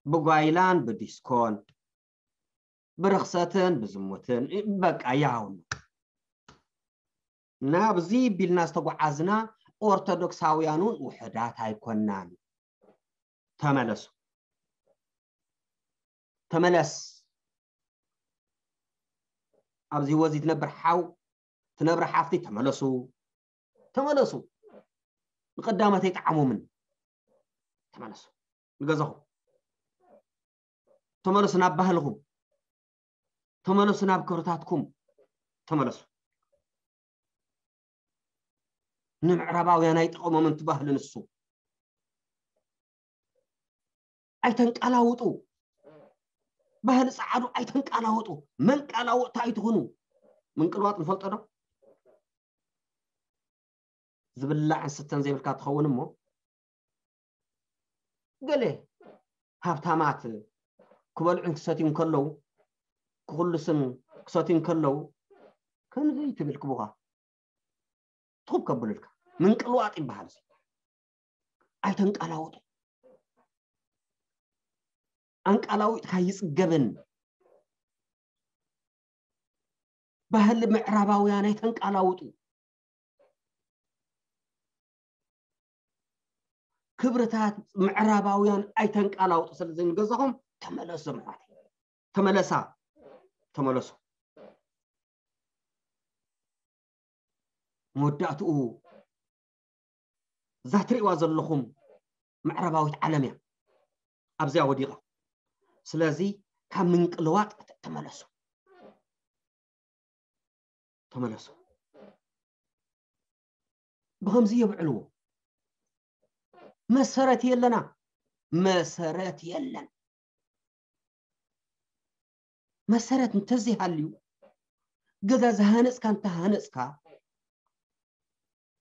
ብጓይላን ብዲስኮን፣ ብርኽሰትን ብዝሙትን፣ በቃ ያው ነው። ናብዚ ቢልና ዝተጓዓዝና ኦርቶዶክሳውያን እውን ውሑዳት ኣይኮናን። ተመለሱ። ተመለስ። ኣብዚ ህይወት እዚ ትነብር ሓው፣ ትነብር ሓፍቲ፣ ተመለሱ። ተመለሱ። ንቀዳማት ኣይጠዓሞምን። ተመለሱ ንገዛኹም። ተመለሱ ናብ ባህልኹም። ተመለሱ ናብ ክብርታትኩም። ተመለሱ። ንምዕራባውያን ኣይጠቐሞምን እቲ ባህሊ ንሱ። ኣይተንቀላውጡ። ባህሊ ጸዓዱ ኣይተንቀላውጡ። መንቀላውጥቲ ኣይትኹኑ። ምንቅልዋጥ ንፈልጦ ዶ? ዝብላዕን ስተን ዘይብልካ ትኸውን እሞ፣ ገለ ሃብታማት ክበልዑን ክሰትዩን ከለዉ፣ ክኹልስን ክሰትዩን ከለዉ፣ ከምዚ ትብል ክቡኻ ትኹብ ከብሉልካ። ምንቅልዋጥ ይበሃል እዚ። ኣይተንቀላውጡ። ኣንቀላዊጥካ ይጽገብን። ባህሊ ምዕራባውያን ኣይተንቀላውጡ። ክብርታት ምዕራባውያን ኣይተንቀላውጡ። ስለዚ ንገዛኹም ተመለሱ ኣሕዋተይ። ተመለሳ። ተመለሱ። መወዳእትኡ እዛ ትርእይዋ ዘለኹም ምዕራባዊት ዓለም እያ ኣብዚኣ ወዲቓ። ስለዚ ካብ ምንቅልዋጥ ተመለሱ። ተመለሱ። ብኸምዚ የብዕልዎ። መሰረት የለና። መሰረት የለን። መሰረት እንተዘይሃልዩ፣ ገዛ ዝሃነጽካ እንተሃነጽካ፣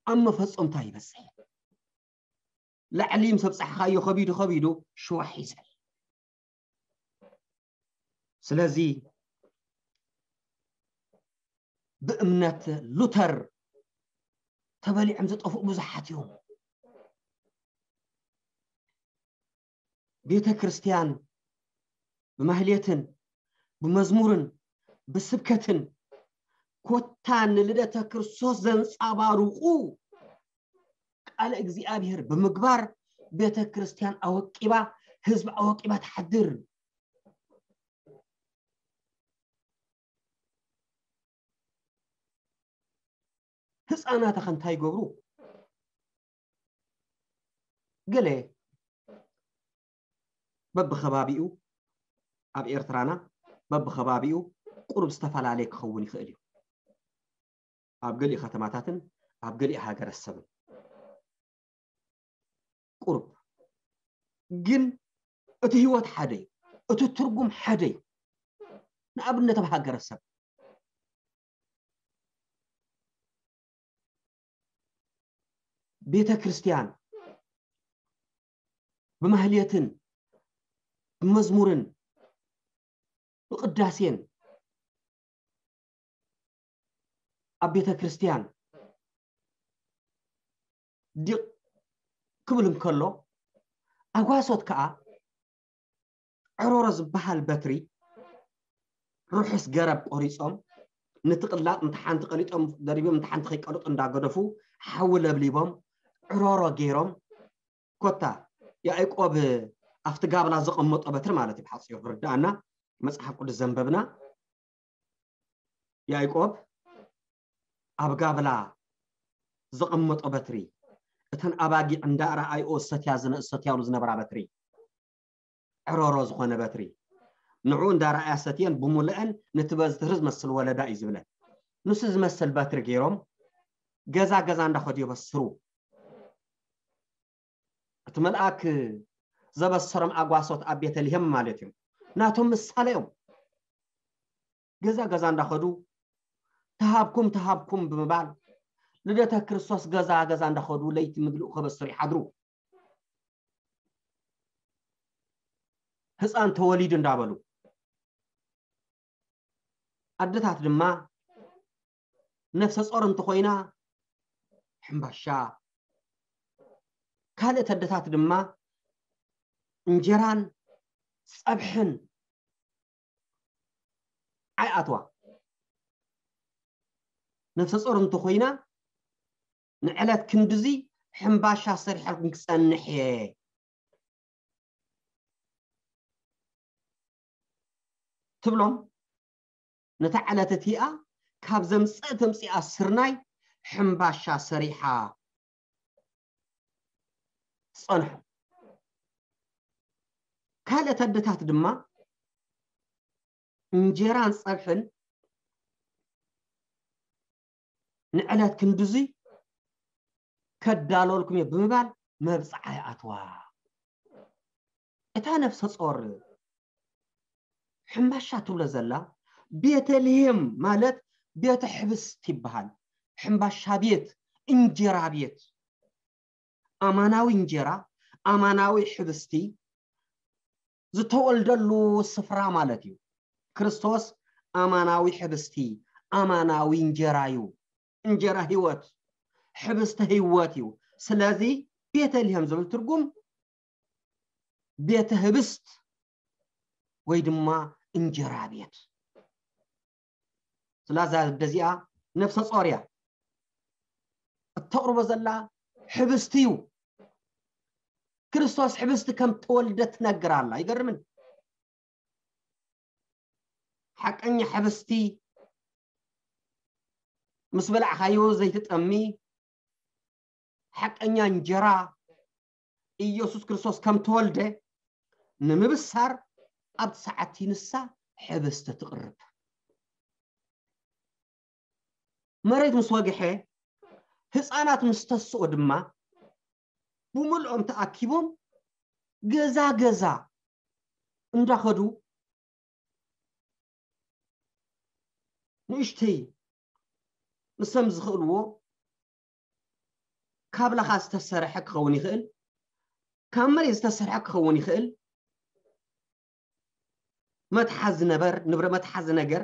ኣብ መፈጸምታ ይበጽሕ። ላዕሊ ምስ ኣብጻሕካዮ ከቢዱ ከቢዱ ሽዋሕ ይዘል። ስለዚ ብእምነት ሉተር ተበሊዖም ዝጠፍኡ ብዙሓት እዮም። ቤተ ክርስቲያን ብማህሌትን ብመዝሙርን ብስብከትን ኮታ ንልደተ ክርስቶስ ዘንጸባርቑ ቃለ እግዚኣብሔር ብምግባር ቤተ ክርስቲያን ኣወቂባ፣ ህዝቢ ኣወቂባ ትሓድር። ህፃናት ከ እንታይ ይገብሩ? ገለ በብኸባቢኡ፣ ኣብ ኤርትራና በብኸባቢኡ ቁሩብ ዝተፈላለየ ክኸውን ይኽእል እዩ። ኣብ ገሊኡ ከተማታትን ኣብ ገሊኡ ሃገረሰብን ቁሩብ፣ ግን እቲ ህይወት ሓደ እዩ፣ እቲ ትርጉም ሓደ እዩ። ንኣብነት ኣብ ሃገረሰብ ቤተ ክርስቲያን ብማህሌትን ብመዝሙርን ብቅዳሴን ኣብ ቤተ ክርስቲያን ዲቕ ክብል እንከሎ፣ ኣጓሶት ከኣ ዕሮሮ ዝበሃል በትሪ ርሑስ ገረብ ቆሪጾም፣ ነቲ ቅላጥ ነቲ ሓንቲ ቀሊጦም ደሪቦም ነቲ ሓንቲ ከይቀልጡ እንዳገደፉ፣ ሓዊ ለብሊቦም፣ ዕሮሮ ገይሮም፣ ኮታ ያዕቆብ ኣብቲ ጋብላ ዘቐመጦ በትሪ ማለት እዩ። ብሓጺሩ ክርድኣና፣ መጽሓፍ ቅዱስ ዘንበብና፣ ያዕቆብ ኣብ ጋብላ ዘቐመጦ በትሪ፣ እተን ኣባጊዕ እንዳረኣይኦ ሰትያ ዝነ-፣ ሰትያሉ ዝነበራ በትሪ፣ ዕሮሮ ዝኾነ በትሪ፣ ንዑ እንዳረኣያ ሰትየን ብሙሉአን ነቲ በዚ ትሪ ዝመስል ወለዳ እዩ ዝብለን። ንሱ ዝመስል በትሪ ገይሮም ገዛ ገዛ እንዳኸዱ የበስሩ። እቲ መልኣክ ዘበሰሮም ኣጓሶት ኣብ ቤተልሔም ማለት እዮም። ናቶም ምሳሌ እዮም። ገዛ ገዛ እንዳኸዱ፣ "ተሃብኩም፣ ተሃብኩም" ብምባል፣ ልደተ ክርስቶስ ገዛ ገዛ እንዳኸዱ ለይቲ ምግልኡ ከበስሩ ይሓድሩ። ህፃን ተወሊዱ እንዳበሉ፣ ኣደታት ድማ ነፍሰ ጾር እንተኾይና ሕምባሻ፣ ካልኦት ኣደታት ድማ እንጀራን ጸብሕን ኣይኣትዋ። ነፍሰ ጾር እንተኾይና ንዕለት ክንድዚ ሕምባሻ ሰሪሐልኩም ክጸንሕ እየ ትብሎም። ነታ ዕለት እቲኣ ካብ ዘምጸእ ተምጺኣ ስርናይ ሕምባሻ ሰሪሓ ትጸንሖ። ካልኦት ኣደታት ድማ እንጀራን ጸብሕን ንዕለት ክንድዚ ከዳለወልኩም እየ ብምባል መብጽዓ ይኣትዋ። እታ ነፍሰ ጾር ሕምባሻ ትብሎ ዘላ፣ ቤተልሔም ማለት ቤተ ሕብስት ይበሃል። ሕምባሻ ቤት፣ እንጀራ ቤት፣ ኣማናዊ እንጀራ፣ ኣማናዊ ሕብስቲ ዝተወልደሉ ስፍራ ማለት እዩ። ክርስቶስ ኣማናዊ ሕብስቲ፣ ኣማናዊ እንጀራ እዩ። እንጀራ ህይወት፣ ሕብስቲ ህይወት እዩ። ስለዚ ቤተልሔም ዝብል ትርጉም ቤተ ህብስት ወይ ድማ እንጀራ ቤት። ስለዛ ኣደ እዚኣ ነፍሰ ጾር እያ። እተቕርቦ ዘላ ሕብስቲ እዩ። ክርስቶስ ሕብስቲ ከም ተወልደ ትነግር ኣላ። ይገርምን? ሓቀኛ ሕብስቲ ምስ በላዕኻዮ ዘይትጠሚ፣ ሓቀኛ እንጀራ ኢየሱስ ክርስቶስ ከም ተወልደ ንምብሳር ኣብቲ ሰዓት ንሳ ሕብስቲ ትቕርብ። መሬት ምስ ወግሐ፣ ህፃናት ምስ ተስኦ ድማ፣ ብምልኦም ተኣኪቦም ገዛ ገዛ እንዳኸዱ፣ ንእሽተይ ንሶም ዝኽእልዎ ካብ ላኻ ዝተሰርሐ ክኸውን ይኽእል፣ ካብ መሬት ዝተሰርሐ ክኸውን ይኽእል፣ መትሓዚ ነበር፣ ንብረ-፣ መትሓዚ ነገር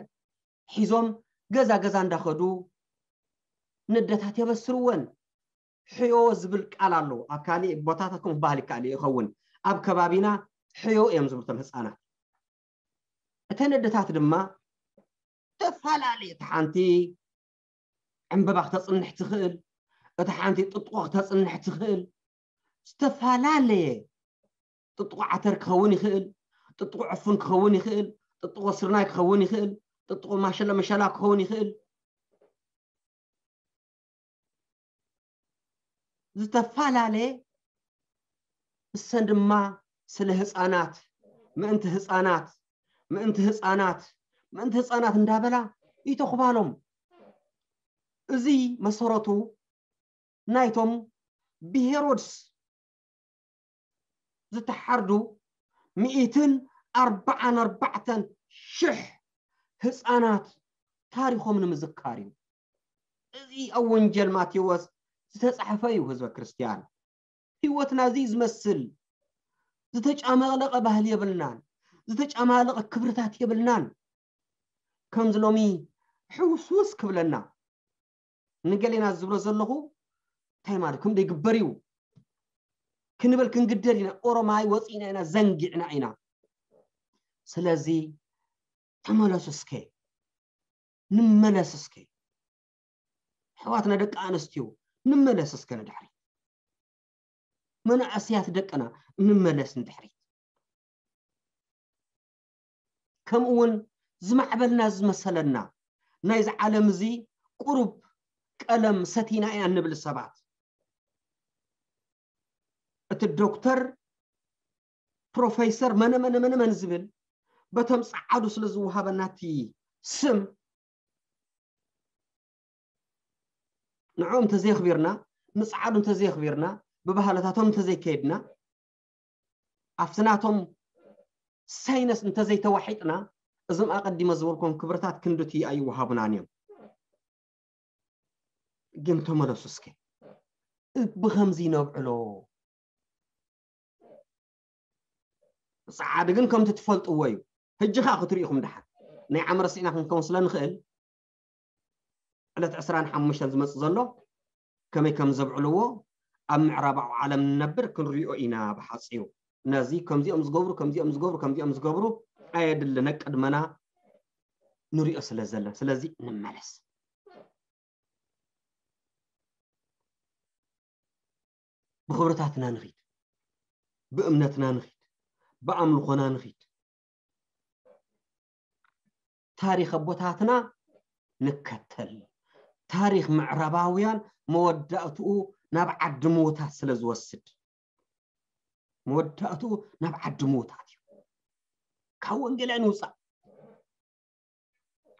ሒዞም ገዛ ገዛ እንዳኸዱ ነደታት የበስርወን። ሕዮ ዝብል ቃል ኣሎ። ኣብ ካሊእ ቦታታት ከምኡ ክበሃል ይከኣል እዩ ይኸውን። ኣብ ከባቢና ሕዮ እዮም ዝብሉ እቶም ህፃናት። እተን ኣደታት ድማ ተፈላለየ፣ እታ ሓንቲ ዕምበባ ክተፅንሕ ትኽእል፣ እታ ሓንቲ ጥጥቆ ክተፅንሕ ትኽእል፣ ዝተፈላለየ ጥጥቆ ዓተር ክኸውን ይኽእል፣ ጥጥቆ ዕፉን ክኸውን ይኽእል፣ ጥጥቆ ስርናይ ክኸውን ይኽእል፣ ጥጥቆ ማሸላ መሸላ ክኸውን ይኽእል። ዝተፈላለየ፣ እሰን ድማ ስለ ህፃናት፣ ምእንቲ ህፃናት፣ ምእንቲ ህፃናት፣ ምእንቲ ህፃናት እንዳበላ ይተኹባሎም። እዚ መሰረቱ ናይቶም ብሄሮድስ ዝተሓርዱ ሚእትን ኣርባዓን ኣርባዕተን ሽሕ ህፃናት ታሪኾም ንምዝካር እዩ። እዚ ኣብ ወንጀል ማቴዎስ ዝተጻሕፈ እዩ። ህዝበ ክርስትያን፣ ህይወትና እዚ ዝመስል ዝተጫማለቐ ባህሊ የብልናን፣ ዝተጫማለቐ ክብርታት የብልናን። ከምዚ ሎሚ ሕውስውስ ክብለና፣ ንገሌና ዝብሎ ዘለኹ እንታይ ማለት፣ ከምዶ ይግበር እዩ ክንብል ክንግደድ ኢና። ኦሮማይ ወፂእና ኢና፣ ዘንጊዕና ኢና። ስለዚ ተመለሱ እስከ፣ ንመለስ እስከ። ኣሕዋትና ደቂ ኣንስትዮ፣ ንመለስ እስከ ንድሕሪት። መናእሰያት ደቅና፣ ንመለስ ንድሕሪት። ከምኡ እውን ዝማዕበልና ዝመሰለና፣ ናይዚ ዓለም እዚ ቁሩብ ቀለም ሰቲና ኢና እንብል ሰባት፣ እቲ ዶክተር፣ ፕሮፌሰር፣ መነ መነ መነ መን ዝብል በቶም ጸዓዱ ስለ ዝወሃበና እቲ ስም፣ ንዕኦም እንተዘየኽቢርና፣ ንጸዓዱ እንተዘየኽቢርና፣ ብባህልታቶም እንተዘይከይድና፣ ኣብቲ ናቶም ሳይነስ እንተዘይተዋሒጥና፣ እዞም ኣቐዲመ ዝበልኩም ክብርታት ክንድቲ ኣይወሃቡናን እዮም። ግን ተመለሱ እስከ፣ ብኸምዚ ነብዕሎ። ጸዓዱ ግን ከምቲ ትፈልጥዎ እዩ። ሕጂ ኸኣ ክትሪኡ ኢኹም ደሓን። ናይ ዓመረ ስኢና ክንከውን ስለ ንኽእል፣ ዕለት ዕስራን ሓሙሽተን ዝመጽእ ዘሎ ከመይ ከም ዘብዕልዎ ኣብ ምዕራባዊ ዓለም ንነብር ክንሪኦ ኢና ብሓጺሩ። ነዚ ከምዚኦም ዝገብሩ፣ ከምዚኦም ዝገብሩ፣ ከምዚኦም ዝገብሩ ኣየድልን። ቅድመና ንሪኦ ስለ ዘለና። ስለዚ ንመለስ። ብኽብርታትና ንኺድ፣ ብእምነትና ንኺድ፣ ብኣምልኾና ንኺድ። ታሪኽ ኣቦታትና ንከተል። ታሪኽ ምዕራባውያን መወዳእትኡ ናብ ዓዲ ምዉታት ስለ ዝወስድ፣ መወዳእትኡ ናብ ዓዲ ምዉታት እዩ። ካብ ወንጌል ኣይንውጻእ።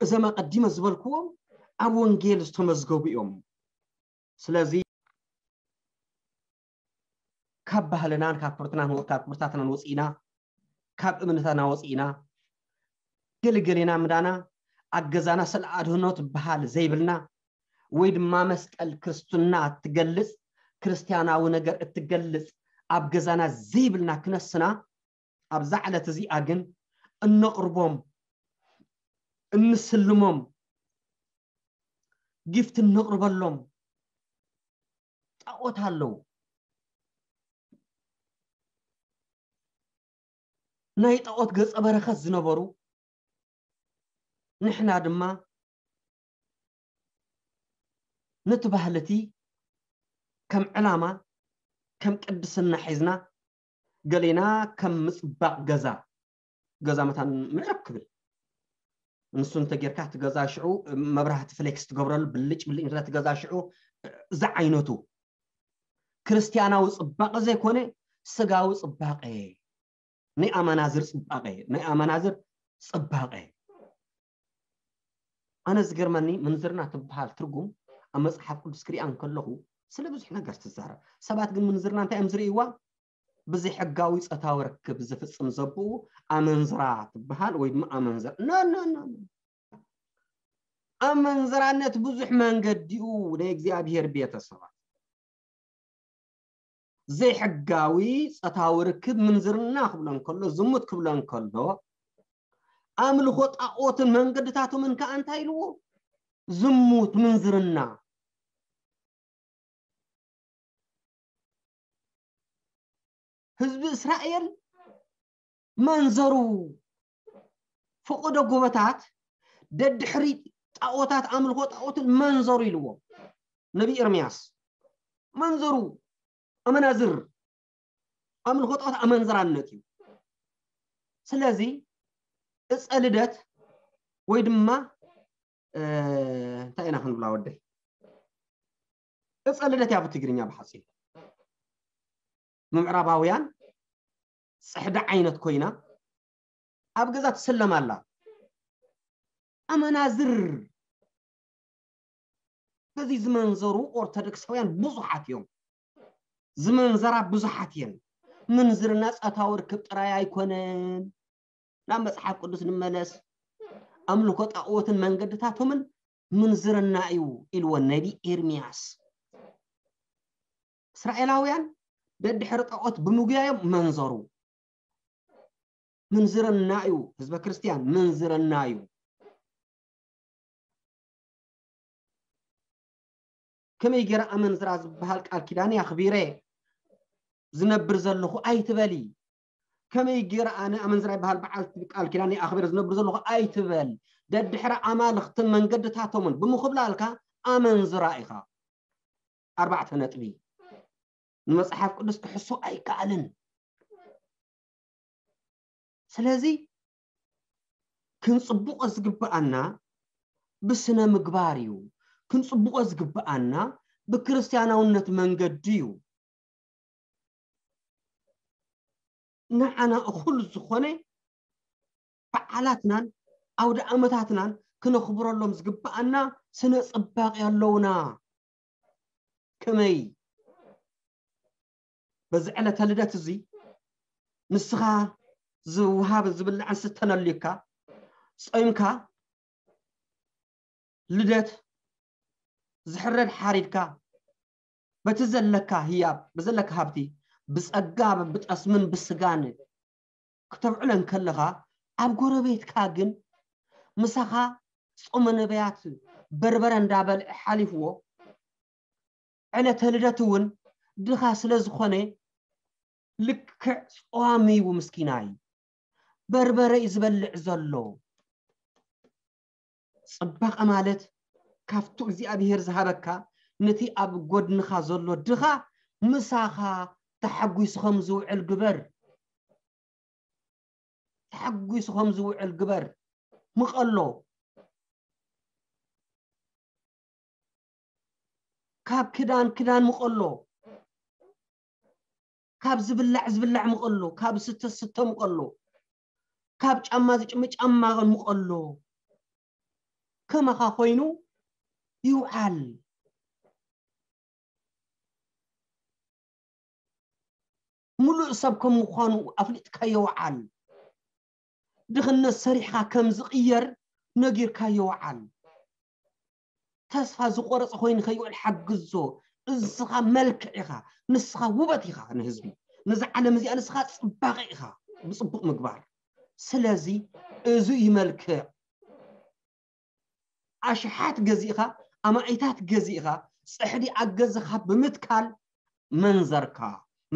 እዞም ኣቐዲመ ዝበልክዎም ኣብ ወንጌል ዝተመዝገቡ እዮም። ስለዚ ካብ ባህልናን ካብ ክብርትናን ወ-፣ ካብ ክብርታትናን ወፂእና፣ ካብ እምነታና ወፂእና፣ ገለገሌና ምዳና፣ ኣብ ገዛና ስለ ኣድህኖ ትበሃል ዘይብልና፣ ወይ ድማ መስቀል ክርስትና እትገልጽ፣ ክርስትያናዊ ነገር እትገልጽ ኣብ ገዛና ዘይብልና ክነስና፣ ኣብዛ ዕለት እዚኣ ግን እነቕርቦም፣ እንስልሞም፣ ጊፍት እነቕርበሎም ጣዖት ኣለዉ። ናይ ጣዖት ገጸ በረኸት ዝነበሩ፣ ንሕና ድማ ነቲ ባህሊ እቲ ከም ዕላማ፣ ከም ቅድስና ሒዝና፣ ገሌና ከም ምጽባቕ ገዛ፣ ገዛ መታን ምዕርግ ክብል። ንሱ እንተጌርካ እቲ ገዛ ሽዑ መብራህቲ ፍሌክስ ትገብረሉ፣ ብልጭ ብልጭ እንተ እቲ ገዛ ሽዑ ዝዓይነቱ ክርስትያናዊ ጽባቐ ዘይኮነ፣ ስጋዊ ጽባቐ፣ ናይ ኣመናዝር ጽባቐ፣ ናይ ኣመናዝር ጽባቐ። ኣነ ዝገርመኒ፣ ምንዝርና ትበሃል ትርጉም ኣብ መጽሓፍ ቅዱስ ክሪኣ እንከለኹ ስለ ብዙሕ ነገር ትዛረብ። ሰባት ግን ምንዝርና እንታይ እዮም ዝርእይዋ? ብዘይሕጋዊ ጾታዊ ርክብ ዝፍጽም ዘብኡ ኣመንዝራ ትበሃል ወይ ድማ ኣመንዝር። ኖ፣ ኖ፣ ኖ፣ ኖ። ኣመንዝራነት ብዙሕ መንገዲኡ ናይ እግዚኣብሔር ቤተሰባት። ዘይሕጋዊ ጾታዊ ርክብ ምንዝርና ክብሎ እንከሎ፣ ዝሙት ክብሎ እንከሎ፣ ኣምልኾ ጣኦትን መንገድታቶምን ከኣ እንታይ ኢልዎ? ዝሙት፣ ምንዝርና። ህዝቢ እስራኤል መንዘሩ፣ ፈቐዶ ጎቦታት፣ ደድሕሪ ጣኦታት፣ ኣምልኾ ጣኦትን መንዘሩ ኢልዎ ነቢ ኤርምያስ። መንዘሩ፣ ኣመናዝር፣ ኣምልኾ ጣኦት ኣመንዝራነት እዩ። ስለዚ እፀ ልደት ወይ ድማ፣ እ፣ እንታይ ኢና ክንብላ ወደይ? እፀ ልደት እያ ብትግርኛ ብሓፂሩ። ምዕራባውያን ፅሕዲ ዓይነት ኮይና ኣብ ገዛ ትስለም ኣላ። ኣመናዝር በዚ ዝመንዘሩ ኦርቶዶክሳውያን ብዙሓት እዮም። ዝመንዘራ ብዙሓት እየን። ምንዝርና ጾታዊ ርክብ ጥራይ ኣይኮነን። ናብ መጽሓፍ ቅዱስ ንመለስ። ኣምልኮ ጣኦትን መንገድታቶምን ምንዝርና እዩ ኢልዎ ነቢ ኤርምያስ። እስራኤላውያን ደድሕሪ ጣኦት ብምጉያዮም መንዘሩ። ምንዝርና እዩ፣ ህዝበ ክርስትያን ምንዝርና እዩ። ከመይ ገይረ ኣመንዝራ ዝበሃል ቃል ኪዳን ኣኽቢረ ዝነብር ዘለኹ ኣይትበሊ። ከመይ ገይረ ኣነ ኣመንዝራ ይበሃል በዓል ቃል ኪዳን ኣኽብረ ዝነብር ዘለኹ ኣይትበል። ደድሕሪ ኣማልኽትን መንገድታቶምን ብምኹብላልካ ኣመንዝራ ኢኻ። ኣርባዕተ ነጥቢ። ንመጽሓፍ ቅዱስ ክሕሶ ኣይከኣልን። ስለዚ ክንጽብቆ ዝግብኣና ብስነ ምግባር እዩ። ክንጽብቆ ዝግብኣና ብክርስቲያናውነት መንገዲ እዩ። ንዓና እኹል ዝኾነ በዓላትናን ኣውደ ኣመታትናን ክነኽብረሎም ዝግብኣና ስነ ጽባቂ ኣለውና። ከመይ በዚ ዕለተ ልደት እዚ ንስኻ ዝውሃብ ዝብላዕን ስተን ኣልዩካ ጾይምካ ልደት ዝሕረድ ሓሪድካ በቲ ዘለካ ህያብ ብዘለካ ሃብቲ ብጸጋ ብጠስምን ብስጋን ክተብዕሎ እንከለኻ ኣብ ጎረቤትካ ግን ምሳኻ ጾመ ነቢያት በርበረ እንዳበልዐ ሓሊፍዎ ዕለተ ልደት እውን ድኻ ስለ ዝኾነ ልክዕ ጾዋሚ እዩ ምስኪናይ በርበረ እዩ ዝበልዕ ዘሎ። ጽባቐ ማለት ካብቱ እግዚኣብሔር ዝሃበካ ነቲ ኣብ ጎድንኻ ዘሎ ድኻ ምሳኻ ተሓጒሱ ከም ዝውዕል ግበር። ተሓጒሱ ከም ዝውዕል ግበር። ምቐሎ ካብ ክዳን ክዳን ምቐሎ ካብ ዝብላዕ ዝብላዕ ምቐሎ ካብ ስተ ስተ ምቐሎ ካብ ጫማ ዝጭም ጫማ ምቐሎ ከማኻ ኮይኑ ይውዓል። ሙሉእ ሰብ ከም ምዃኑ ኣፍሊጥካዮ ወዓል። ድኽነት ሰሪሕኻ ከም ዝቕየር ነጊርካዮ ወዓል። ተስፋ ዝቆረጸ ኮይኑ ከይውዕል ሓግዞ። ንስኻ መልክዕ ኢኻ፣ ንስኻ ውበት ኢኻ ንህዝቢ። ነዛ ዓለም እዚኣ ንስኻ ጽባቐ ኢኻ ብጽቡቕ ምግባር። ስለዚ እዚ እዩ መልክዕ። ኣሽሓት ገዚእኻ፣ ኣማኢታት ገዚእኻ፣ ጽሕዲ ኣገዝኻ ብምትካል መንዘርካ፣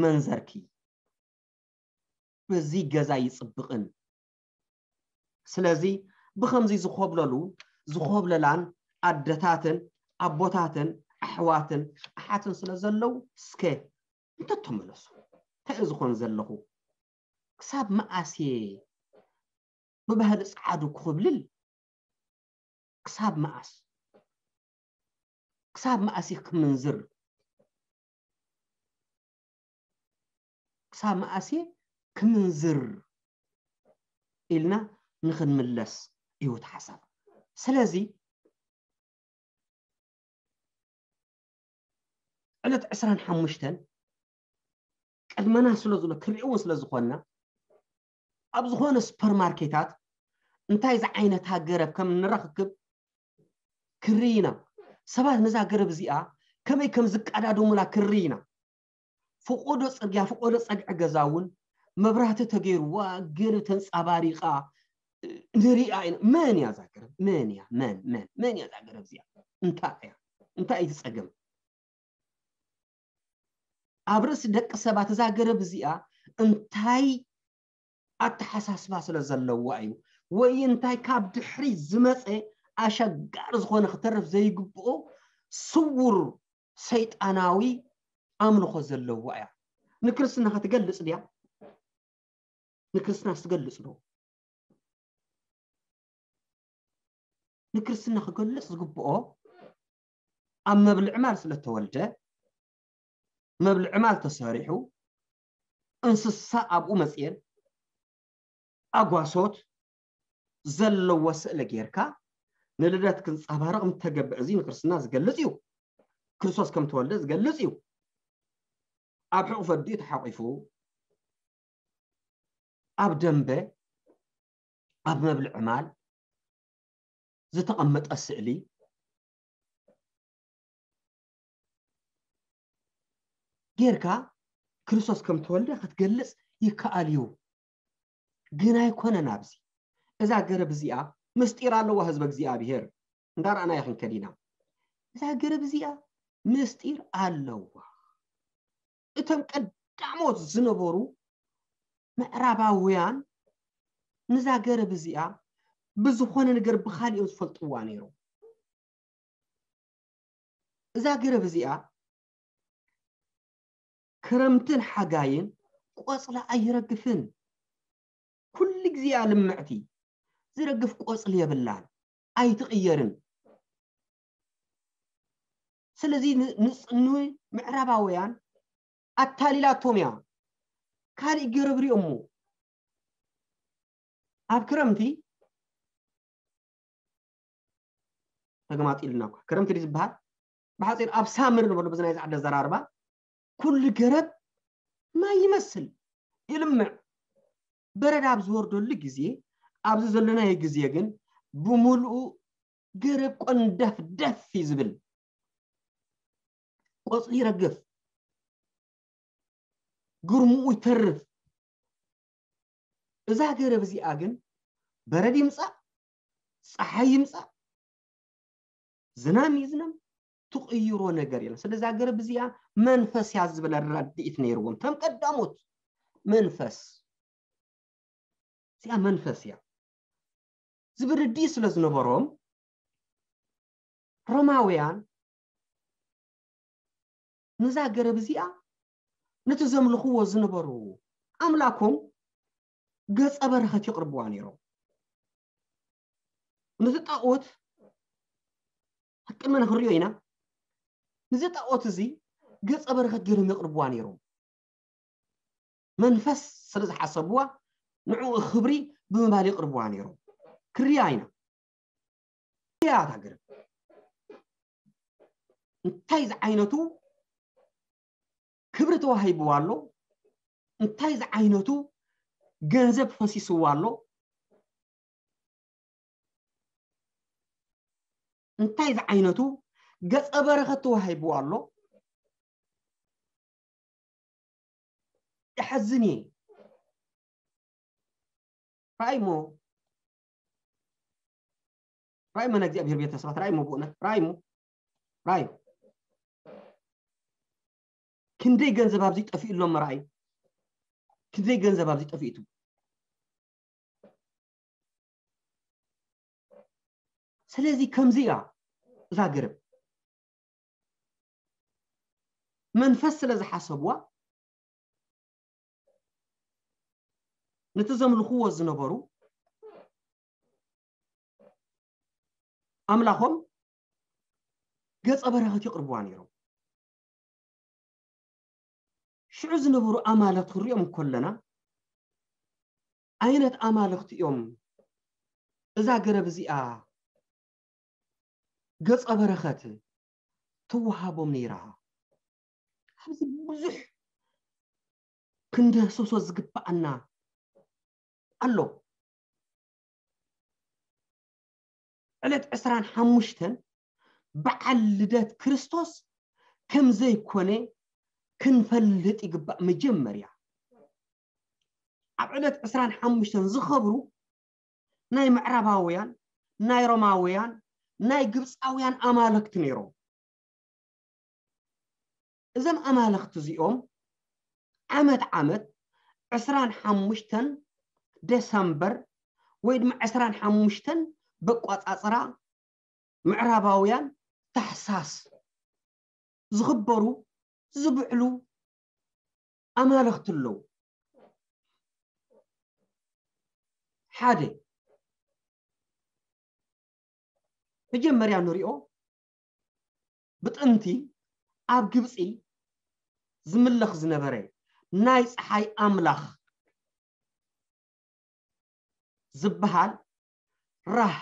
መንዘርኪ በዚ ገዛ ይጽብቕን። ስለዚ ብኸምዚ ዝኾብለሉ፣ ዝኾብለላን ኣደታትን ኣቦታትን ኣሕዋትን ኣሓትን ስለ ዘለዉ፣ እስከ እንተተመለሱ፣ እንታይ እዩ ዝኾን ዘለኹ? ክሳብ መኣስ እየ ብባህሊ ጸዓዱ ክኹብልል? ክሳብ መኣስ? ክሳብ መኣስ እየ ክምንዝር? ክሳብ መኣስ እየ ክምንዝር? ኢልና ንኽንምለስ እዩ እቲ ሓሳብ። ስለዚ ዕለት ዕስራን ሓሙሽተን ቅድመና ስለ ዘሎ ክሪእውን ስለ ዝኾንና ኣብ ዝኾነ ሱፐርማርኬታት እንታይ ዝዓይነታ ገረብ ከም ንረኽክብ ክሪ ኢና። ሰባት ነዛ ገረብ እዚኣ ከመይ ከም ዝቀዳደሙላ ክሪ ኢና። ፈቆዶ ጽርግያ ፈቆዶ ጸግዒ ገዛ እውን መብራህቲ ተገይርዋ ገረብ ተንጻባሪቓ ንሪኣ ኢና። መን እያ እዛ ገረብ? መን እያ? መን መን መን እያ እዛ ገረብ እዚኣ? እንታይ እያ? እንታይ እዩ እቲ ጸገም? ኣብ ርእሲ ደቂ ሰባት እዛ ገረብ እዚኣ እንታይ ኣተሓሳስባ ስለ ዘለዋ እዩ ወይ እንታይ ካብ ድሕሪ ዝመፀ ኣሸጋሪ ዝኾነ ክተርፍ ዘይግብኦ ስውር ሰይጣናዊ ኣምልኾ ዘለዋ እያ። ንክርስትናኻ ትገልፅ ድያ? ንክርስትናስ ትገልፅ ዶ? ንክርስትና ክገልፅ ዝግብኦ ኣብ መብልዕ ማል ስለተወልደ መብልዕ ማል ተሰሪሑ እንስሳ ኣብኡ መፅየን ኣጓሶት ዘለዎ ስእሊ ጌርካ ንልደት ክንፀባረቕ ምተገብእ እዚ ንክርስትና ዝገልፅ እዩ። ክርስቶስ ከም ተወልደ ዝገልፅ እዩ። ኣብ ሕቑፍ ኣዲኡ ተሓቂፉ ኣብ ደንበ ኣብ መብልዕ ማል ዝተቐመጠ ስእሊ ጌርካ ክርስቶስ ከም ተወልደ ክትገልጽ ይከኣል እዩ። ግን ኣይኮነን ኣብዚ እዛ ገረብ እዚኣ ምስጢር ኣለዋ ህዝበ እግዚኣብሔር እንዳረኣና ይኽንከድ ኢና። እዛ ገረብ እዚኣ ምስጢር ኣለዋ። እቶም ቀዳሞት ዝነበሩ ምዕራባውያን ንዛ ገረብ እዚኣ ብዝኾነ ነገር ብኻሊኦም ዝፈልጥዋ ነይሮም። እዛ ገረብ እዚኣ ክረምትን ሓጋይን ቆጽላ ኣይረግፍን። ኩሉ ግዜ እያ ልምዕቲ። ዝረግፍ ቆጽሊ የብላን፣ ኣይትቕየርን። ስለዚ ን- ንጽ- ንምዕራባውያን ኣታሊላቶም እያ። ካልእ ገረብ ሪኦሞ ኣብ ክረምቲ ተገማጢልና እኳ ክረምቲ ድዩ ዝበሃል? ብሓፂር ኣብ ሳምር ንበሎ ብዚ ናይ ዛዕደ ዘራርባ ኩሉ ገረብ ማይ ይመስል፣ ይልምዕ። በረድ ኣብ ዝወርደሉ ግዜ፣ ኣብዚ ዘለናዮ ግዜ ግን ብምሉኡ ገረብ ቆንደፍ ደፍ እዩ ዝብል። ቆፅሊ ይረግፍ፣ ግርምኡ ይተርፍ። እዛ ገረብ እዚኣ ግን በረድ ይምፃእ፣ ፀሓይ ይምፃእ፣ ዝናም ይዝነም፣ ትቕይሮ ነገር የለን። ስለዚ እዛ ገረብ እዚኣ መንፈስ እያ ዝብል ርድኢት ነይርዎም። ከም ቀዳሞት መንፈስ እዚኣ መንፈስ እያ ዝብል ርድኢት ስለ ዝነበሮም ሮማውያን ነዛ ገረብ እዚኣ ነቲ ዘምልኽዎ ዝነበሩ ኣምላኮም ገጸ በረኸት የቕርብዋ ነይሮም። ነቲ ጣኦት ቅድመ ንክንሪኦ ኢና። ነዚ ጣኦት እዚ ገጸ በረኸት ገይሮም የቕርብዋ ነይሮም። መንፈስ ስለ ዝሓሰብዋ ንዕኡ ክብሪ ብምባል የቕርብዋ ነይሮም። ክርያ ኢና። እያ እታ ገረብ። እንታይ ዝዓይነቱ ክብሪ ተዋሂብዋ ኣሎ? እንታይ ዝዓይነቱ ገንዘብ ፈሲስዋ ኣሎ? እንታይ ዝዓይነቱ ገጸ በረኸት ተዋሂብዋ ኣሎ? ይሓዝን እየ። ራእይሞ ራእይሞ ናይ እግዚኣብሔር ቤተሰባት ራእይሞ ብእውነት ራእይሞ ራእይ ክንደይ ገንዘብ ኣብዚ ጠፊኡ ኣሎ መራእይ ክንደይ ገንዘብ ኣብዚ ጠፊእቱ ስለዚ ከምዚ እያ እዛ ገረብ መንፈስ ስለ ዝሓሰብዋ ነቲ ዘምልኽዎ ዝነበሩ ኣምላኾም ገጸ በረኸት ይቕርብዋ ነይሮም። ሽዑ ዝነበሩ ኣማልኽቲ ክንሪኦም እንከለና ዓይነት ኣማልኽቲ እዮም እዛ ገረብ እዚኣ ገጸ በረኸት ትወሃቦም ነይራ። ኣብዚ ብዙሕ ክንደህሰሶ ዝግብኣና ኣሎ። ዕለት ዕስራን ሓሙሽተን በዓል ልደት ክርስቶስ ከም ዘይኮነ ክንፈልጥ ይግባእ። መጀመርያ ኣብ ዕለት ዕስራን ሓሙሽተን ዝኸብሩ ናይ ምዕራባውያን ናይ ሮማውያን ናይ ግብፃውያን ኣማልክቲ ነይሮም። እዞም ኣማልክቲ እዚኦም ዓመት ዓመት ዕስራን ሓሙሽተን ደሰምበር ወይ ድማ ዕስራን ሓሙሽተን በቋፃፅራ ምዕራባውያን ታሕሳስ ዝኽበሩ ዝብዕሉ ኣማልኽቲ ኣለዉ። ሓደ መጀመርያ ንሪኦ ብጥንቲ ኣብ ግብፂ ዝምለኽ ዝነበረ ናይ ፀሓይ ኣምላኽ ዝበሃል ራህ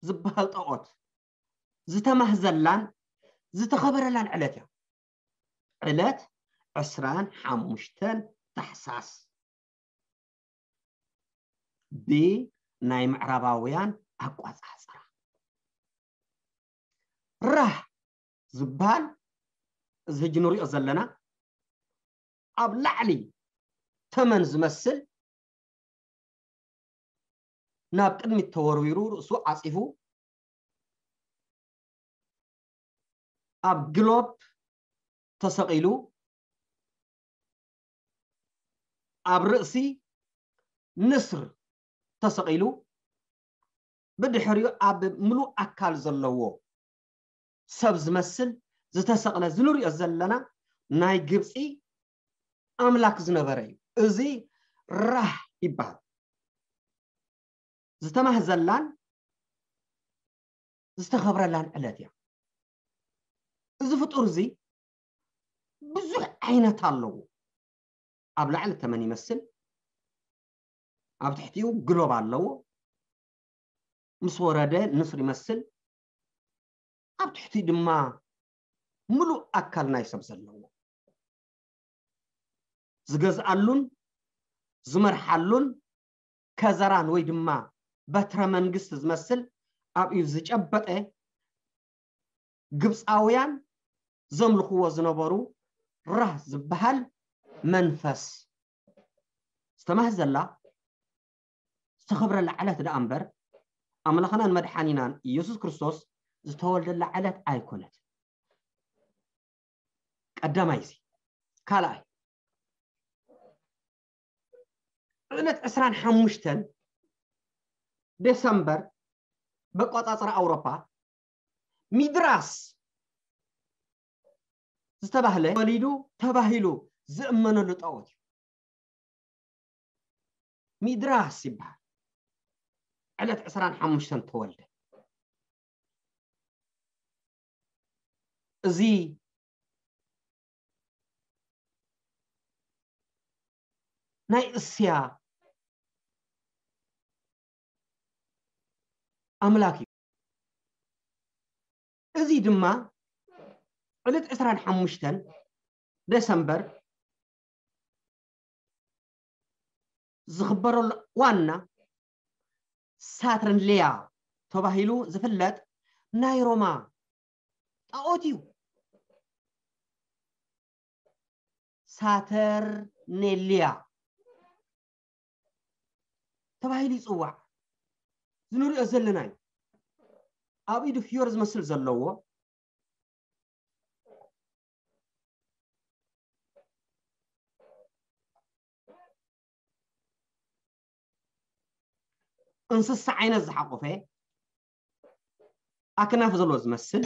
ዝበሃል ጣኦት ዝተማህዘላን ዝተኸበረላን ዕለት እያ። ዕለት ዕስራን ሓሙሽተን ታሕሳስ ብናይ ምዕራባውያን ኣቋፃፅራ ራህ ዝበሃል እዚ ሕጂ ንሪኦ ዘለና ኣብ ላዕሊ ተመን ዝመስል ናብ ቅድሚት ተወርዊሩ ርእሱ ዓፂፉ ኣብ ግሎብ ተሰቒሉ ኣብ ርእሲ ንስር ተሰቒሉ፣ ብድሕሪኡ ኣብ ምሉእ ኣካል ዘለዎ ሰብ ዝመስል ዝተሰቕለ፣ ዝንሪኦ ዘለና ናይ ግብፂ ኣምላክ ዝነበረ እዩ። እዚ ራህ ይበሃል። ዝተማህዘላን ዝተኸብረላን ዕለት እያ። እዚ ፍጡር እዚ ብዙሕ ዓይነት ኣለዎ። ኣብ ላዕሊ ተመን ይመስል፣ ኣብ ትሕቲኡ ግሎብ ኣለዎ። ምስ ወረደ ንስር ይመስል፣ ኣብ ትሕቲኡ ድማ ምሉእ ኣካል ናይ ሰብ ዘለዎ። ዝገዝኣሉን ዝመርሓሉን ከዘራን ወይ ድማ በትረ መንግስቲ ዝመስል ኣብ ኢዱ ዝጨበጠ፣ ግብፃውያን ዘምልኽዎ ዝነበሩ ራህ ዝበሃል መንፈስ ዝተማህዘላ ዝተኸብረላ ዕለት ደኣ እምበር፣ ኣምላኽናን መድሓኒናን ኢየሱስ ክርስቶስ ዝተወልደላ ዕለት ኣይኮነትን። ቀዳማይ እዚ። ካልኣይ፣ ዕለት ዕስራን ሓሙሽተን ዴሰምበር፣ በቆጻጽራ ኣውሮፓ፣ ሚድራስ ዝተባህለ ወሊዱ ተባሂሉ ዝእመነሉ ጣዖት እዩ። ሚድራስ ይበሃል። ዕለት ዕስራን ሓሙሽተን ተወልደ። እዚ ናይ እስያ ኣምላክ እዩ። እዚ ድማ ዕለት ዕስራን ሓሙሽተን ደሰምበር ዝኽበረሉ ዋና ሳትርንሊያ ተባሂሉ ዝፍለጥ ናይ ሮማ ጣዖት እዩ። ሳተርኔሊያ ተባሂሉ ይጽዋዕ። ዝንሪኦ ዘለና እዩ። ኣብ ኢዱ ፍዮር ዝመስል ዘለዎ፣ እንስሳ ዓይነት ዝሓቆፈ፣ ኣክናፍ ዘለዎ ዝመስል፣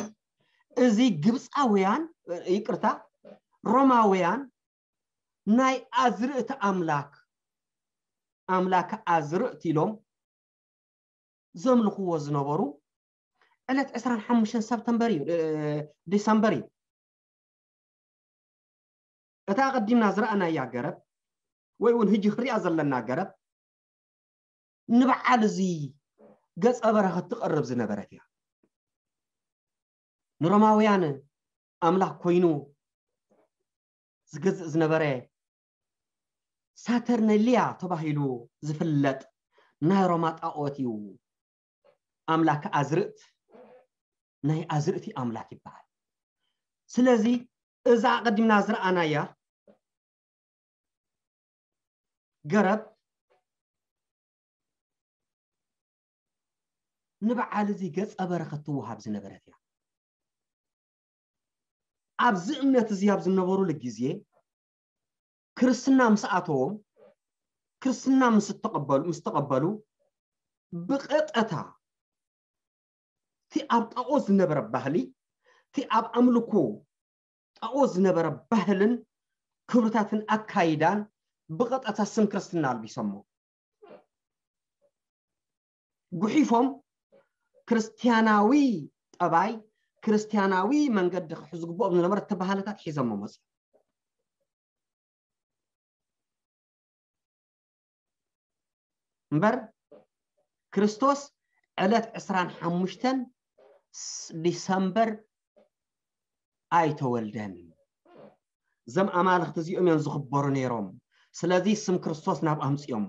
እዚ ግብፃውያን፣ ይቅርታ፣ ሮማውያን ናይ ኣዝርእቲ ኣምላክ፣ ኣምላክ ኣዝርእቲ ኢሎም ዘምልኽዎ ዝነበሩ ዕለት ዕስራን ሓሙሽተን ሰፕተምበር እዩ፣ እ፣ ዲሰምበር እዩ። እታ ኣቐዲምና ዝረኣናያ ገረብ፣ ወይ እውን ሕጂ ክሪኣ ዘለና ገረብ፣ ንበዓል እዚ ገጸ በረኸት ትቐርብ ዝነበረት እያ። ንሮማውያን ኣምላኽ ኮይኑ ዝገዝእ ዝነበረ ሳተርነሊያ ተባሂሉ ዝፍለጥ ናይ ሮማ ጣዖት እዩ። ኣምላክ ኣዝርእት፣ ናይ ኣዝርእቲ ኣምላክ ይበሃል። ስለዚ እዛ ኣቐዲምና ዝረኣናያ ገረብ ንበዓል እዚ ገጸ በረኸት ትወሃብ ዝነበረት እያ። ኣብዚ እምነት እዚ ኣብ ዝነበሩሉ ግዜ ክርስትና ምስ ኣተዎም፣ ክርስትና ምስ ተቐበሉ፣ ምስ ተቐበሉ፣ ብቐጥታ እቲ ኣብ ጣኦት ዝነበረ ባህሊ፣ እቲ ኣብ ኣምልኮ ጣኦት ዝነበረ ባህልን ክብርታትን ኣካይዳን ብቐጥታ ስም ክርስትና ኣልቢሶሞ። ጉሒፎም ክርስትያናዊ ጠባይ፣ ክርስትያናዊ መንገዲ ክሕዙ ዝግብኦም ዝነበረ እቲ ባህልታት ሒዞሞ መፁ። እምበር ክርስቶስ ዕለት ዕስራን ሓሙሽተን ስ-፣ ዲሰምበር ኣይተወልደን። እዞም ኣማልኽቲ እዚኦም እዮም ዝኽበሩ ነይሮም። ስለዚ ስም ክርስቶስ ናብ ኣምፅኦሞ።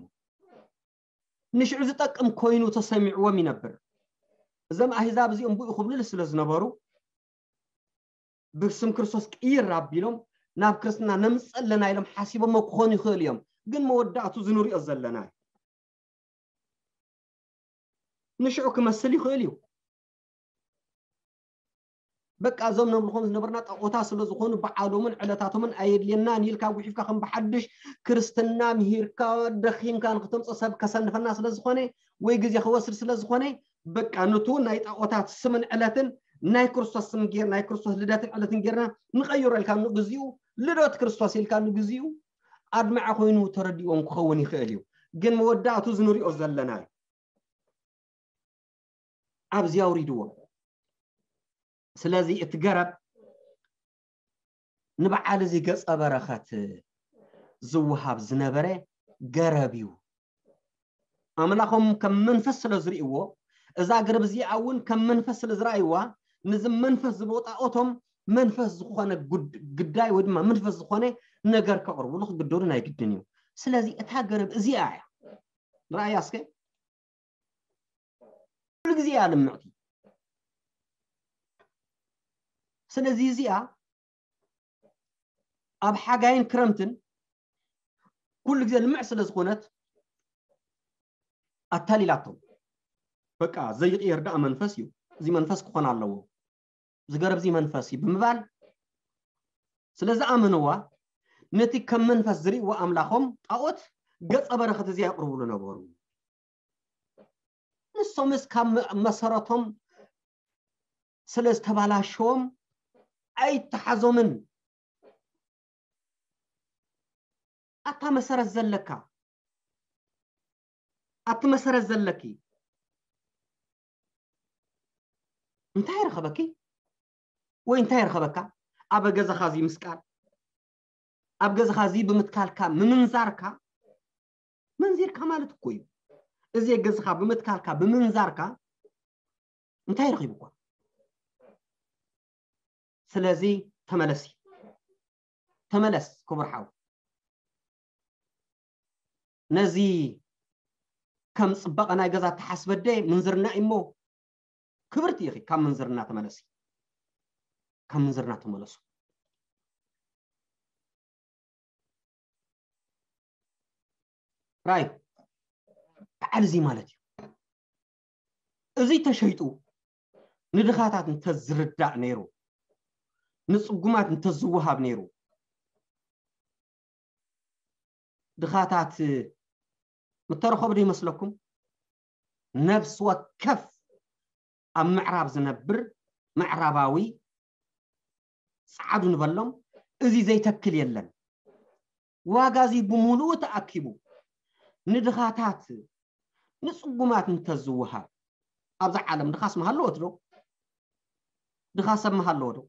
ንሽዑ ዝጠቅም ኮይኑ ተሰሚዕዎም ይነብር። እዞም ኣህዛብ እዚኦም ብኡ ክብልሉ ስለ ዝነበሩ፣ ብስም ክርስቶስ ቅይር ኣቢሎም ናብ ክርስትና ነምፅእ ኣለና ኢሎም ሓሲቦሞ ክኾኑ ይኽእሉ እዮም። ግን መወዳእቱ ዝንሪኦ ዘለና እዩ። ንሽዑ ክመስል ይኽእል እዩ። በቃ እዞም ነምልኾም ዝነበርና ጣኦታት ስለ ዝኾኑ በዓሎምን ዕለታቶምን ኣየድልየናን ኢልካ ጉሒፍካ ከም ብሓድሽ ክርስትና ምሂርካ ደኺምካ ንክተምፅእ ሰብ ከሰንፈና ስለ ዝኾነ ወይ ግዜ ክወስድ ስለ ዝኾነ በቃ ንቱ ናይ ጣኦታት ስምን ዕለትን ናይ ክርስቶስ ስም ጌር ናይ ክርስቶስ ልደትን ዕለትን ጌርና ንቐይሮ ኢልካ ንግዚኡ ልደት ክርስቶስ ኢልካ ንግዚኡ ኣድማዒ ኮይኑ ተረዲኦም ክኸውን ይኽእል እዩ። ግን መወዳእቱ ዝንሪኦ ዘለና እዩ። ኣብዚ ኣውሪድዎ። ስለዚ እቲ ገረብ ንበዓል እዚ ገጸ በረኸት ዝወሃብ ዝነበረ ገረብ እዩ። ኣምላኾም ከም መንፈስ ስለ ዝርእይዎ እዛ ገረብ እዚኣ እውን ከም መንፈስ ስለ ዝረኣይዋ ነዚ መንፈስ ዝቦጣኦቶም መንፈስ ዝኾነ ጉድ- ግዳይ ወይ ድማ መንፈስ ዝኾነ ነገር ከቕርብሉ ክግደዱ ናይ ግድን እዩ። ስለዚ እታ ገረብ እዚኣ እያ። ረኣያ እስከ ኩሉ ግዜ እያ ልምዕቲ። ስለዚ እዚኣ ኣብ ሓጋይን ክረምትን ኩሉ ግዜ ልምዕ ስለ ዝኾነት ኣታሊላቶም። በቃ ዘይቕየር ደኣ መንፈስ እዩ፣ እዚ መንፈስ ክኾን ኣለዎ፣ እዚ ገረብ እዚ መንፈስ እዩ ብምባል ስለ ዝኣመንዋ ነቲ ከም መንፈስ ዝርእይዎ ኣምላኾም ጣኦት ገጸ በረኸት እዚኣ የቕርብሉ ነበሩ። ንሶምስ ካብ መ- መሰረቶም ስለ ዝተባላሸዎም ኣይተሓዞምን። ኣታ መሰረት ዘለካ ኣቲ መሰረት ዘለኪ እንታይ ረኸበኪ ወይ እንታይ ረኸበካ? ኣብ ገዛኻ እዚ ምስቃል ኣብ ገዛኻ እዚ ብምትካልካ ምምንዛርካ መንዚርካ ማለት እኮ እዩ። እዚ ገዛኻ ብምትካልካ ብምምንዛርካ እንታይ ረኺቡኳ? ስለዚ ተመለሲ ተመለስ ክቡር ሓው። ነዚ ከም ፅባቐ ናይ ገዛ ተሓስበደ ምንዝርና እሞ ክብርቲ ኢኺ። ካብ ምንዝርና ተመለሲ። ካብ ምንዝርና ተመለሱ። ራይ በዓል እዚ ማለት እዩ። እዚ ተሸይጡ ንድኻታት እንተዝርዳእ ነይሩ፣ ንፅጉማት እንተዝወሃብ ነይሩ፣ ድኻታት ምተረኸቡ ዶ ይመስለኩም? ነፍሲ ወከፍ ኣብ ምዕራብ ዝነብር ምዕራባዊ ፃዓዱ ንበሎም፣ እዚ ዘይተክል የለን። ዋጋ እዚ ብምሉኡ ተኣኪቡ ንድኻታት ንፅጉማት እንተዝወሃብ ኣብዛ ዓለም ድኻስ ምሃለወት ዶ? ድኻ ሰብ ምሃለወ ዶ?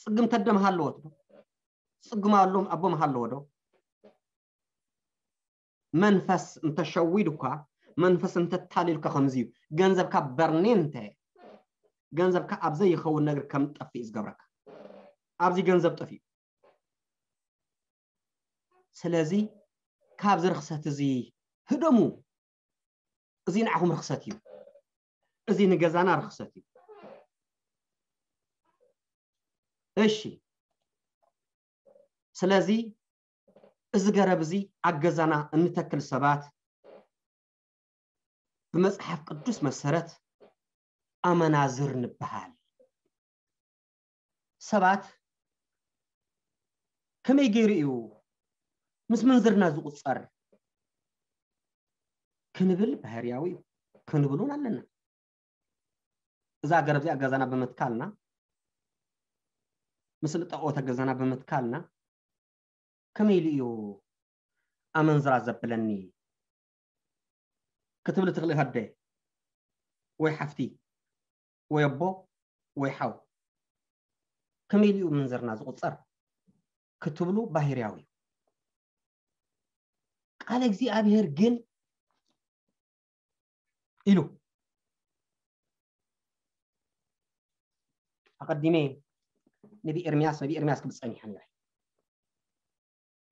ፅግምተ ኣደ ምሃለወት ዶ? ፅጉም ኣሎም ኣቦ ምሃለወ ዶ? መንፈስ እንተሸዊዱ እኳ መንፈስ እንተታሊልካ ከምዚ እዩ። ገንዘብካ በርኔ እንተ ገንዘብካ ኣብ ዘይኸውን ነገር ከም ጠፍእ እዩ ዝገብረካ። ኣብዚ ገንዘብ ጠፍኡ። ስለዚ ካብዚ ርክሰት እዚ ህደሙ። እዚ ንዓኹም ርክሰት እዩ። እዚ ንገዛና ርክሰት እዩ። እሺ፣ ስለዚ እዚ ገረብ እዚ ኣብ ገዛና እንተክል ሰባት ብመጽሓፍ ቅዱስ መሰረት ኣመናዝር ንበሃል። ሰባት ከመይ ገይሩ እዩ ምስ ምንዝርና ዝቁጸር ክንብል ባህርያዊ እዩ፣ ክንብል እውን ኣለና። እዛ ገረብ እዚኣ ገዛና ብምትካልና፣ ምስሊ ጣኦተ ገዛና ብምትካልና ከመይ ኢሉ እዩ ኣመንዝራ ዘብለኒ ክትብል ትኽእል ኢኻ ኣደ ወይ ሓፍቲ ወይ ኣቦ ወይ ሓው። ከመይ ኢሉ እዩ ምንዝርና ዝቁጸር ክትብሉ ባህርያዊ እዩ። ቃለ እግዚኣብሔር ግን ኢሉ ኣቐዲመ ነቢ ኤርምያስ ነቢ ኤርምያስ ክብል ጸኒሐ ነይረ።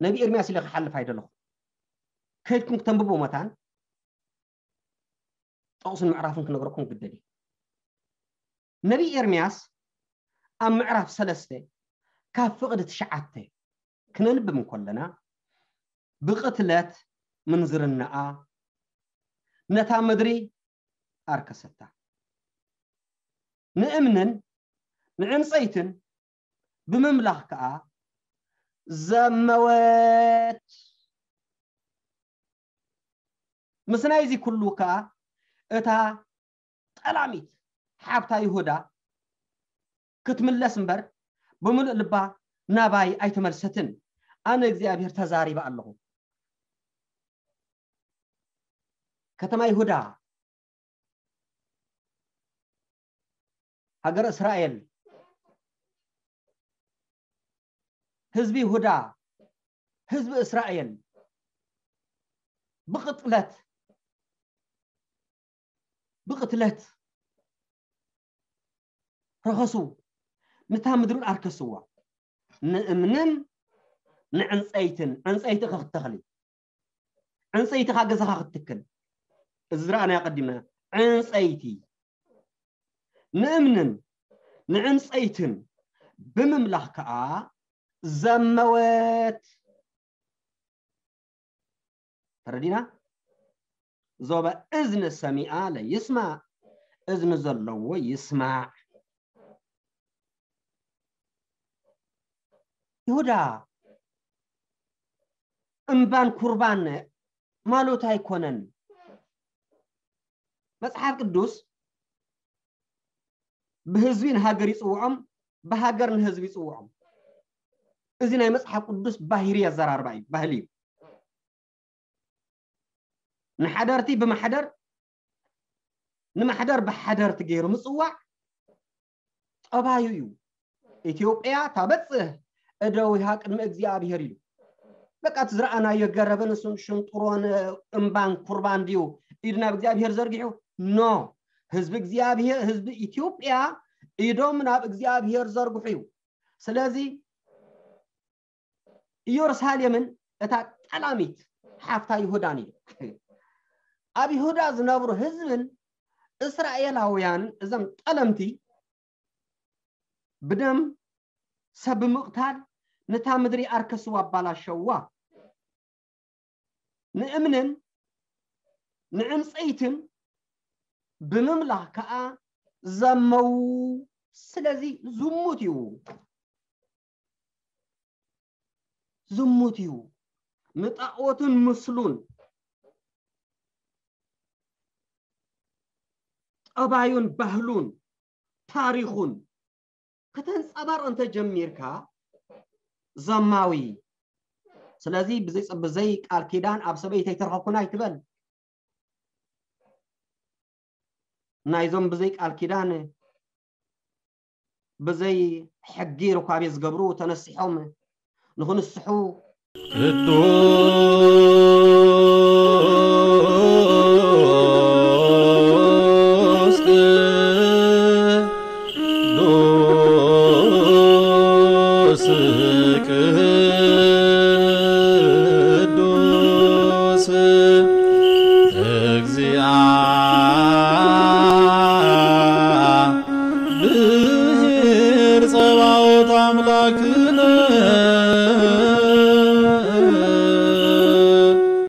ነቢ ኤርምያስ ኢለ ክሓልፍ ኣይደለኹ። ከይድኩም ክተንብቦ መታን ጥቕስን ምዕራፍን ክነግረኩም ግደል እዩ። ነቢ ኤርምያስ ኣብ ምዕራፍ ሰለስተ ካብ ፍቕዲ ትሽዓተ ክነንብብ እንከለና ብቕትለት ምንዝርናኣ ነታ ምድሪ ኣርከሰታ። ንእምንን ንዕንጸይትን ብምምላኽ ከኣ ዘመወት። ምስ ናይዚ ኩሉ ከኣ እታ ጠላሚት ሓብታ ይሁዳ ክትምለስ እምበር ብምሉእ ልባ ናባይ ኣይተመልሰትን። ኣነ እግዚኣብሔር ተዛሪበ ኣለኹ። ከተማ ይሁዳ፣ ሃገረ እስራኤል፣ ህዝቢ ይሁዳ፣ ህዝቢ እስራኤል ብቕትለት፣ ብቕትለት ረኸሱ፣ ነታ ምድርን ኣርከስዋ። ንእምንን ንዕንጸይትን፣ ዕንጸይቲ ኢኻ ክትተኽሊ፣ ዕንጸይቲ ኢኻ ገዛኻ ክትትክል። እዚ ዝረኣናዮ ቀዲምና፣ ዕንጸይቲ። ንእምንን ንዕንጸይትን ብምምላኽ ከኣ ዘመወት። ተረዲና? ዞበ እዝኒ ሰሚኣ ለይስማዕ፣ እዝኒ ዘለዎ ይስማዕ። ይሁዳ እምባን ኩርባን ማሎት ኣይኮነን። መጽሓፍ ቅዱስ ብህዝቢ ንሃገር ይጽውዖም፣ ብሃገር ንህዝቢ ይጽውዖም። እዚ ናይ መጽሓፍ ቅዱስ ባህሪ ኣዘራርባ እዩ፣ ባህሊ እዩ። ንሓደርቲ ብማሕደር፣ ንማሕደር ብሓደርቲ ገይሩ ምጽዋዕ ጠባዩ እዩ። ኢትዮጵያ ታበጽሕ እደዊሃ ቅድሚ እግዚኣብሔር ኢሉ። በቃ እቲ ዝረኣናዮ ገረብን ስን-፣ ሽንጥሮን እምባን ኩርባን ድዩ ኢዱ ናብ እግዚኣብሔር ዘርጊሑ? ኖ። ህዝቢ እግዚኣብሔር፣ ህዝቢ ኢትዮጵያ ኢዶም ናብ እግዚኣብሔር ዘርግሑ እዩ። ስለዚ ኢየሩሳሌምን እታ ጠላሚት ሓፍታ ይሁዳን እዩ። ኣብ ይሁዳ ዝነብሩ ህዝብን እስራኤላውያን፣ እዞም ጠለምቲ፣ ብደም ሰብ ብምቕታል ነታ ምድሪ ኣርከስዋ፣ ኣባላሸዋ። ንእምንን ንዕንጸይትን ብምምላኽ ከኣ ዘመዉ። ስለዚ ዝሙት እዩ። ዝሙት እዩ። ንጣኦትን ምስሉን፣ ጠባዩን ባህሉን ታሪኹን ከተንጸባርቕ እንተ ጀሚርካ ዘማዊ። ስለዚ ብዘይ፣ ብዘይ ቃል ኪዳን ኣብ ሰበይተይ ተረኸብኩን ኣይትበል። ናይዞም ብዘይ ቃል ኪዳን፣ ብዘይ ሕጊ ርኳቤ ዝገብሩ ተነሲሖም ንኽንስሑ። ቅዱስ፣ ቅዱስ፣ ቅዱስ እግዚአብሔር ጸባኦት ኣምላክነ።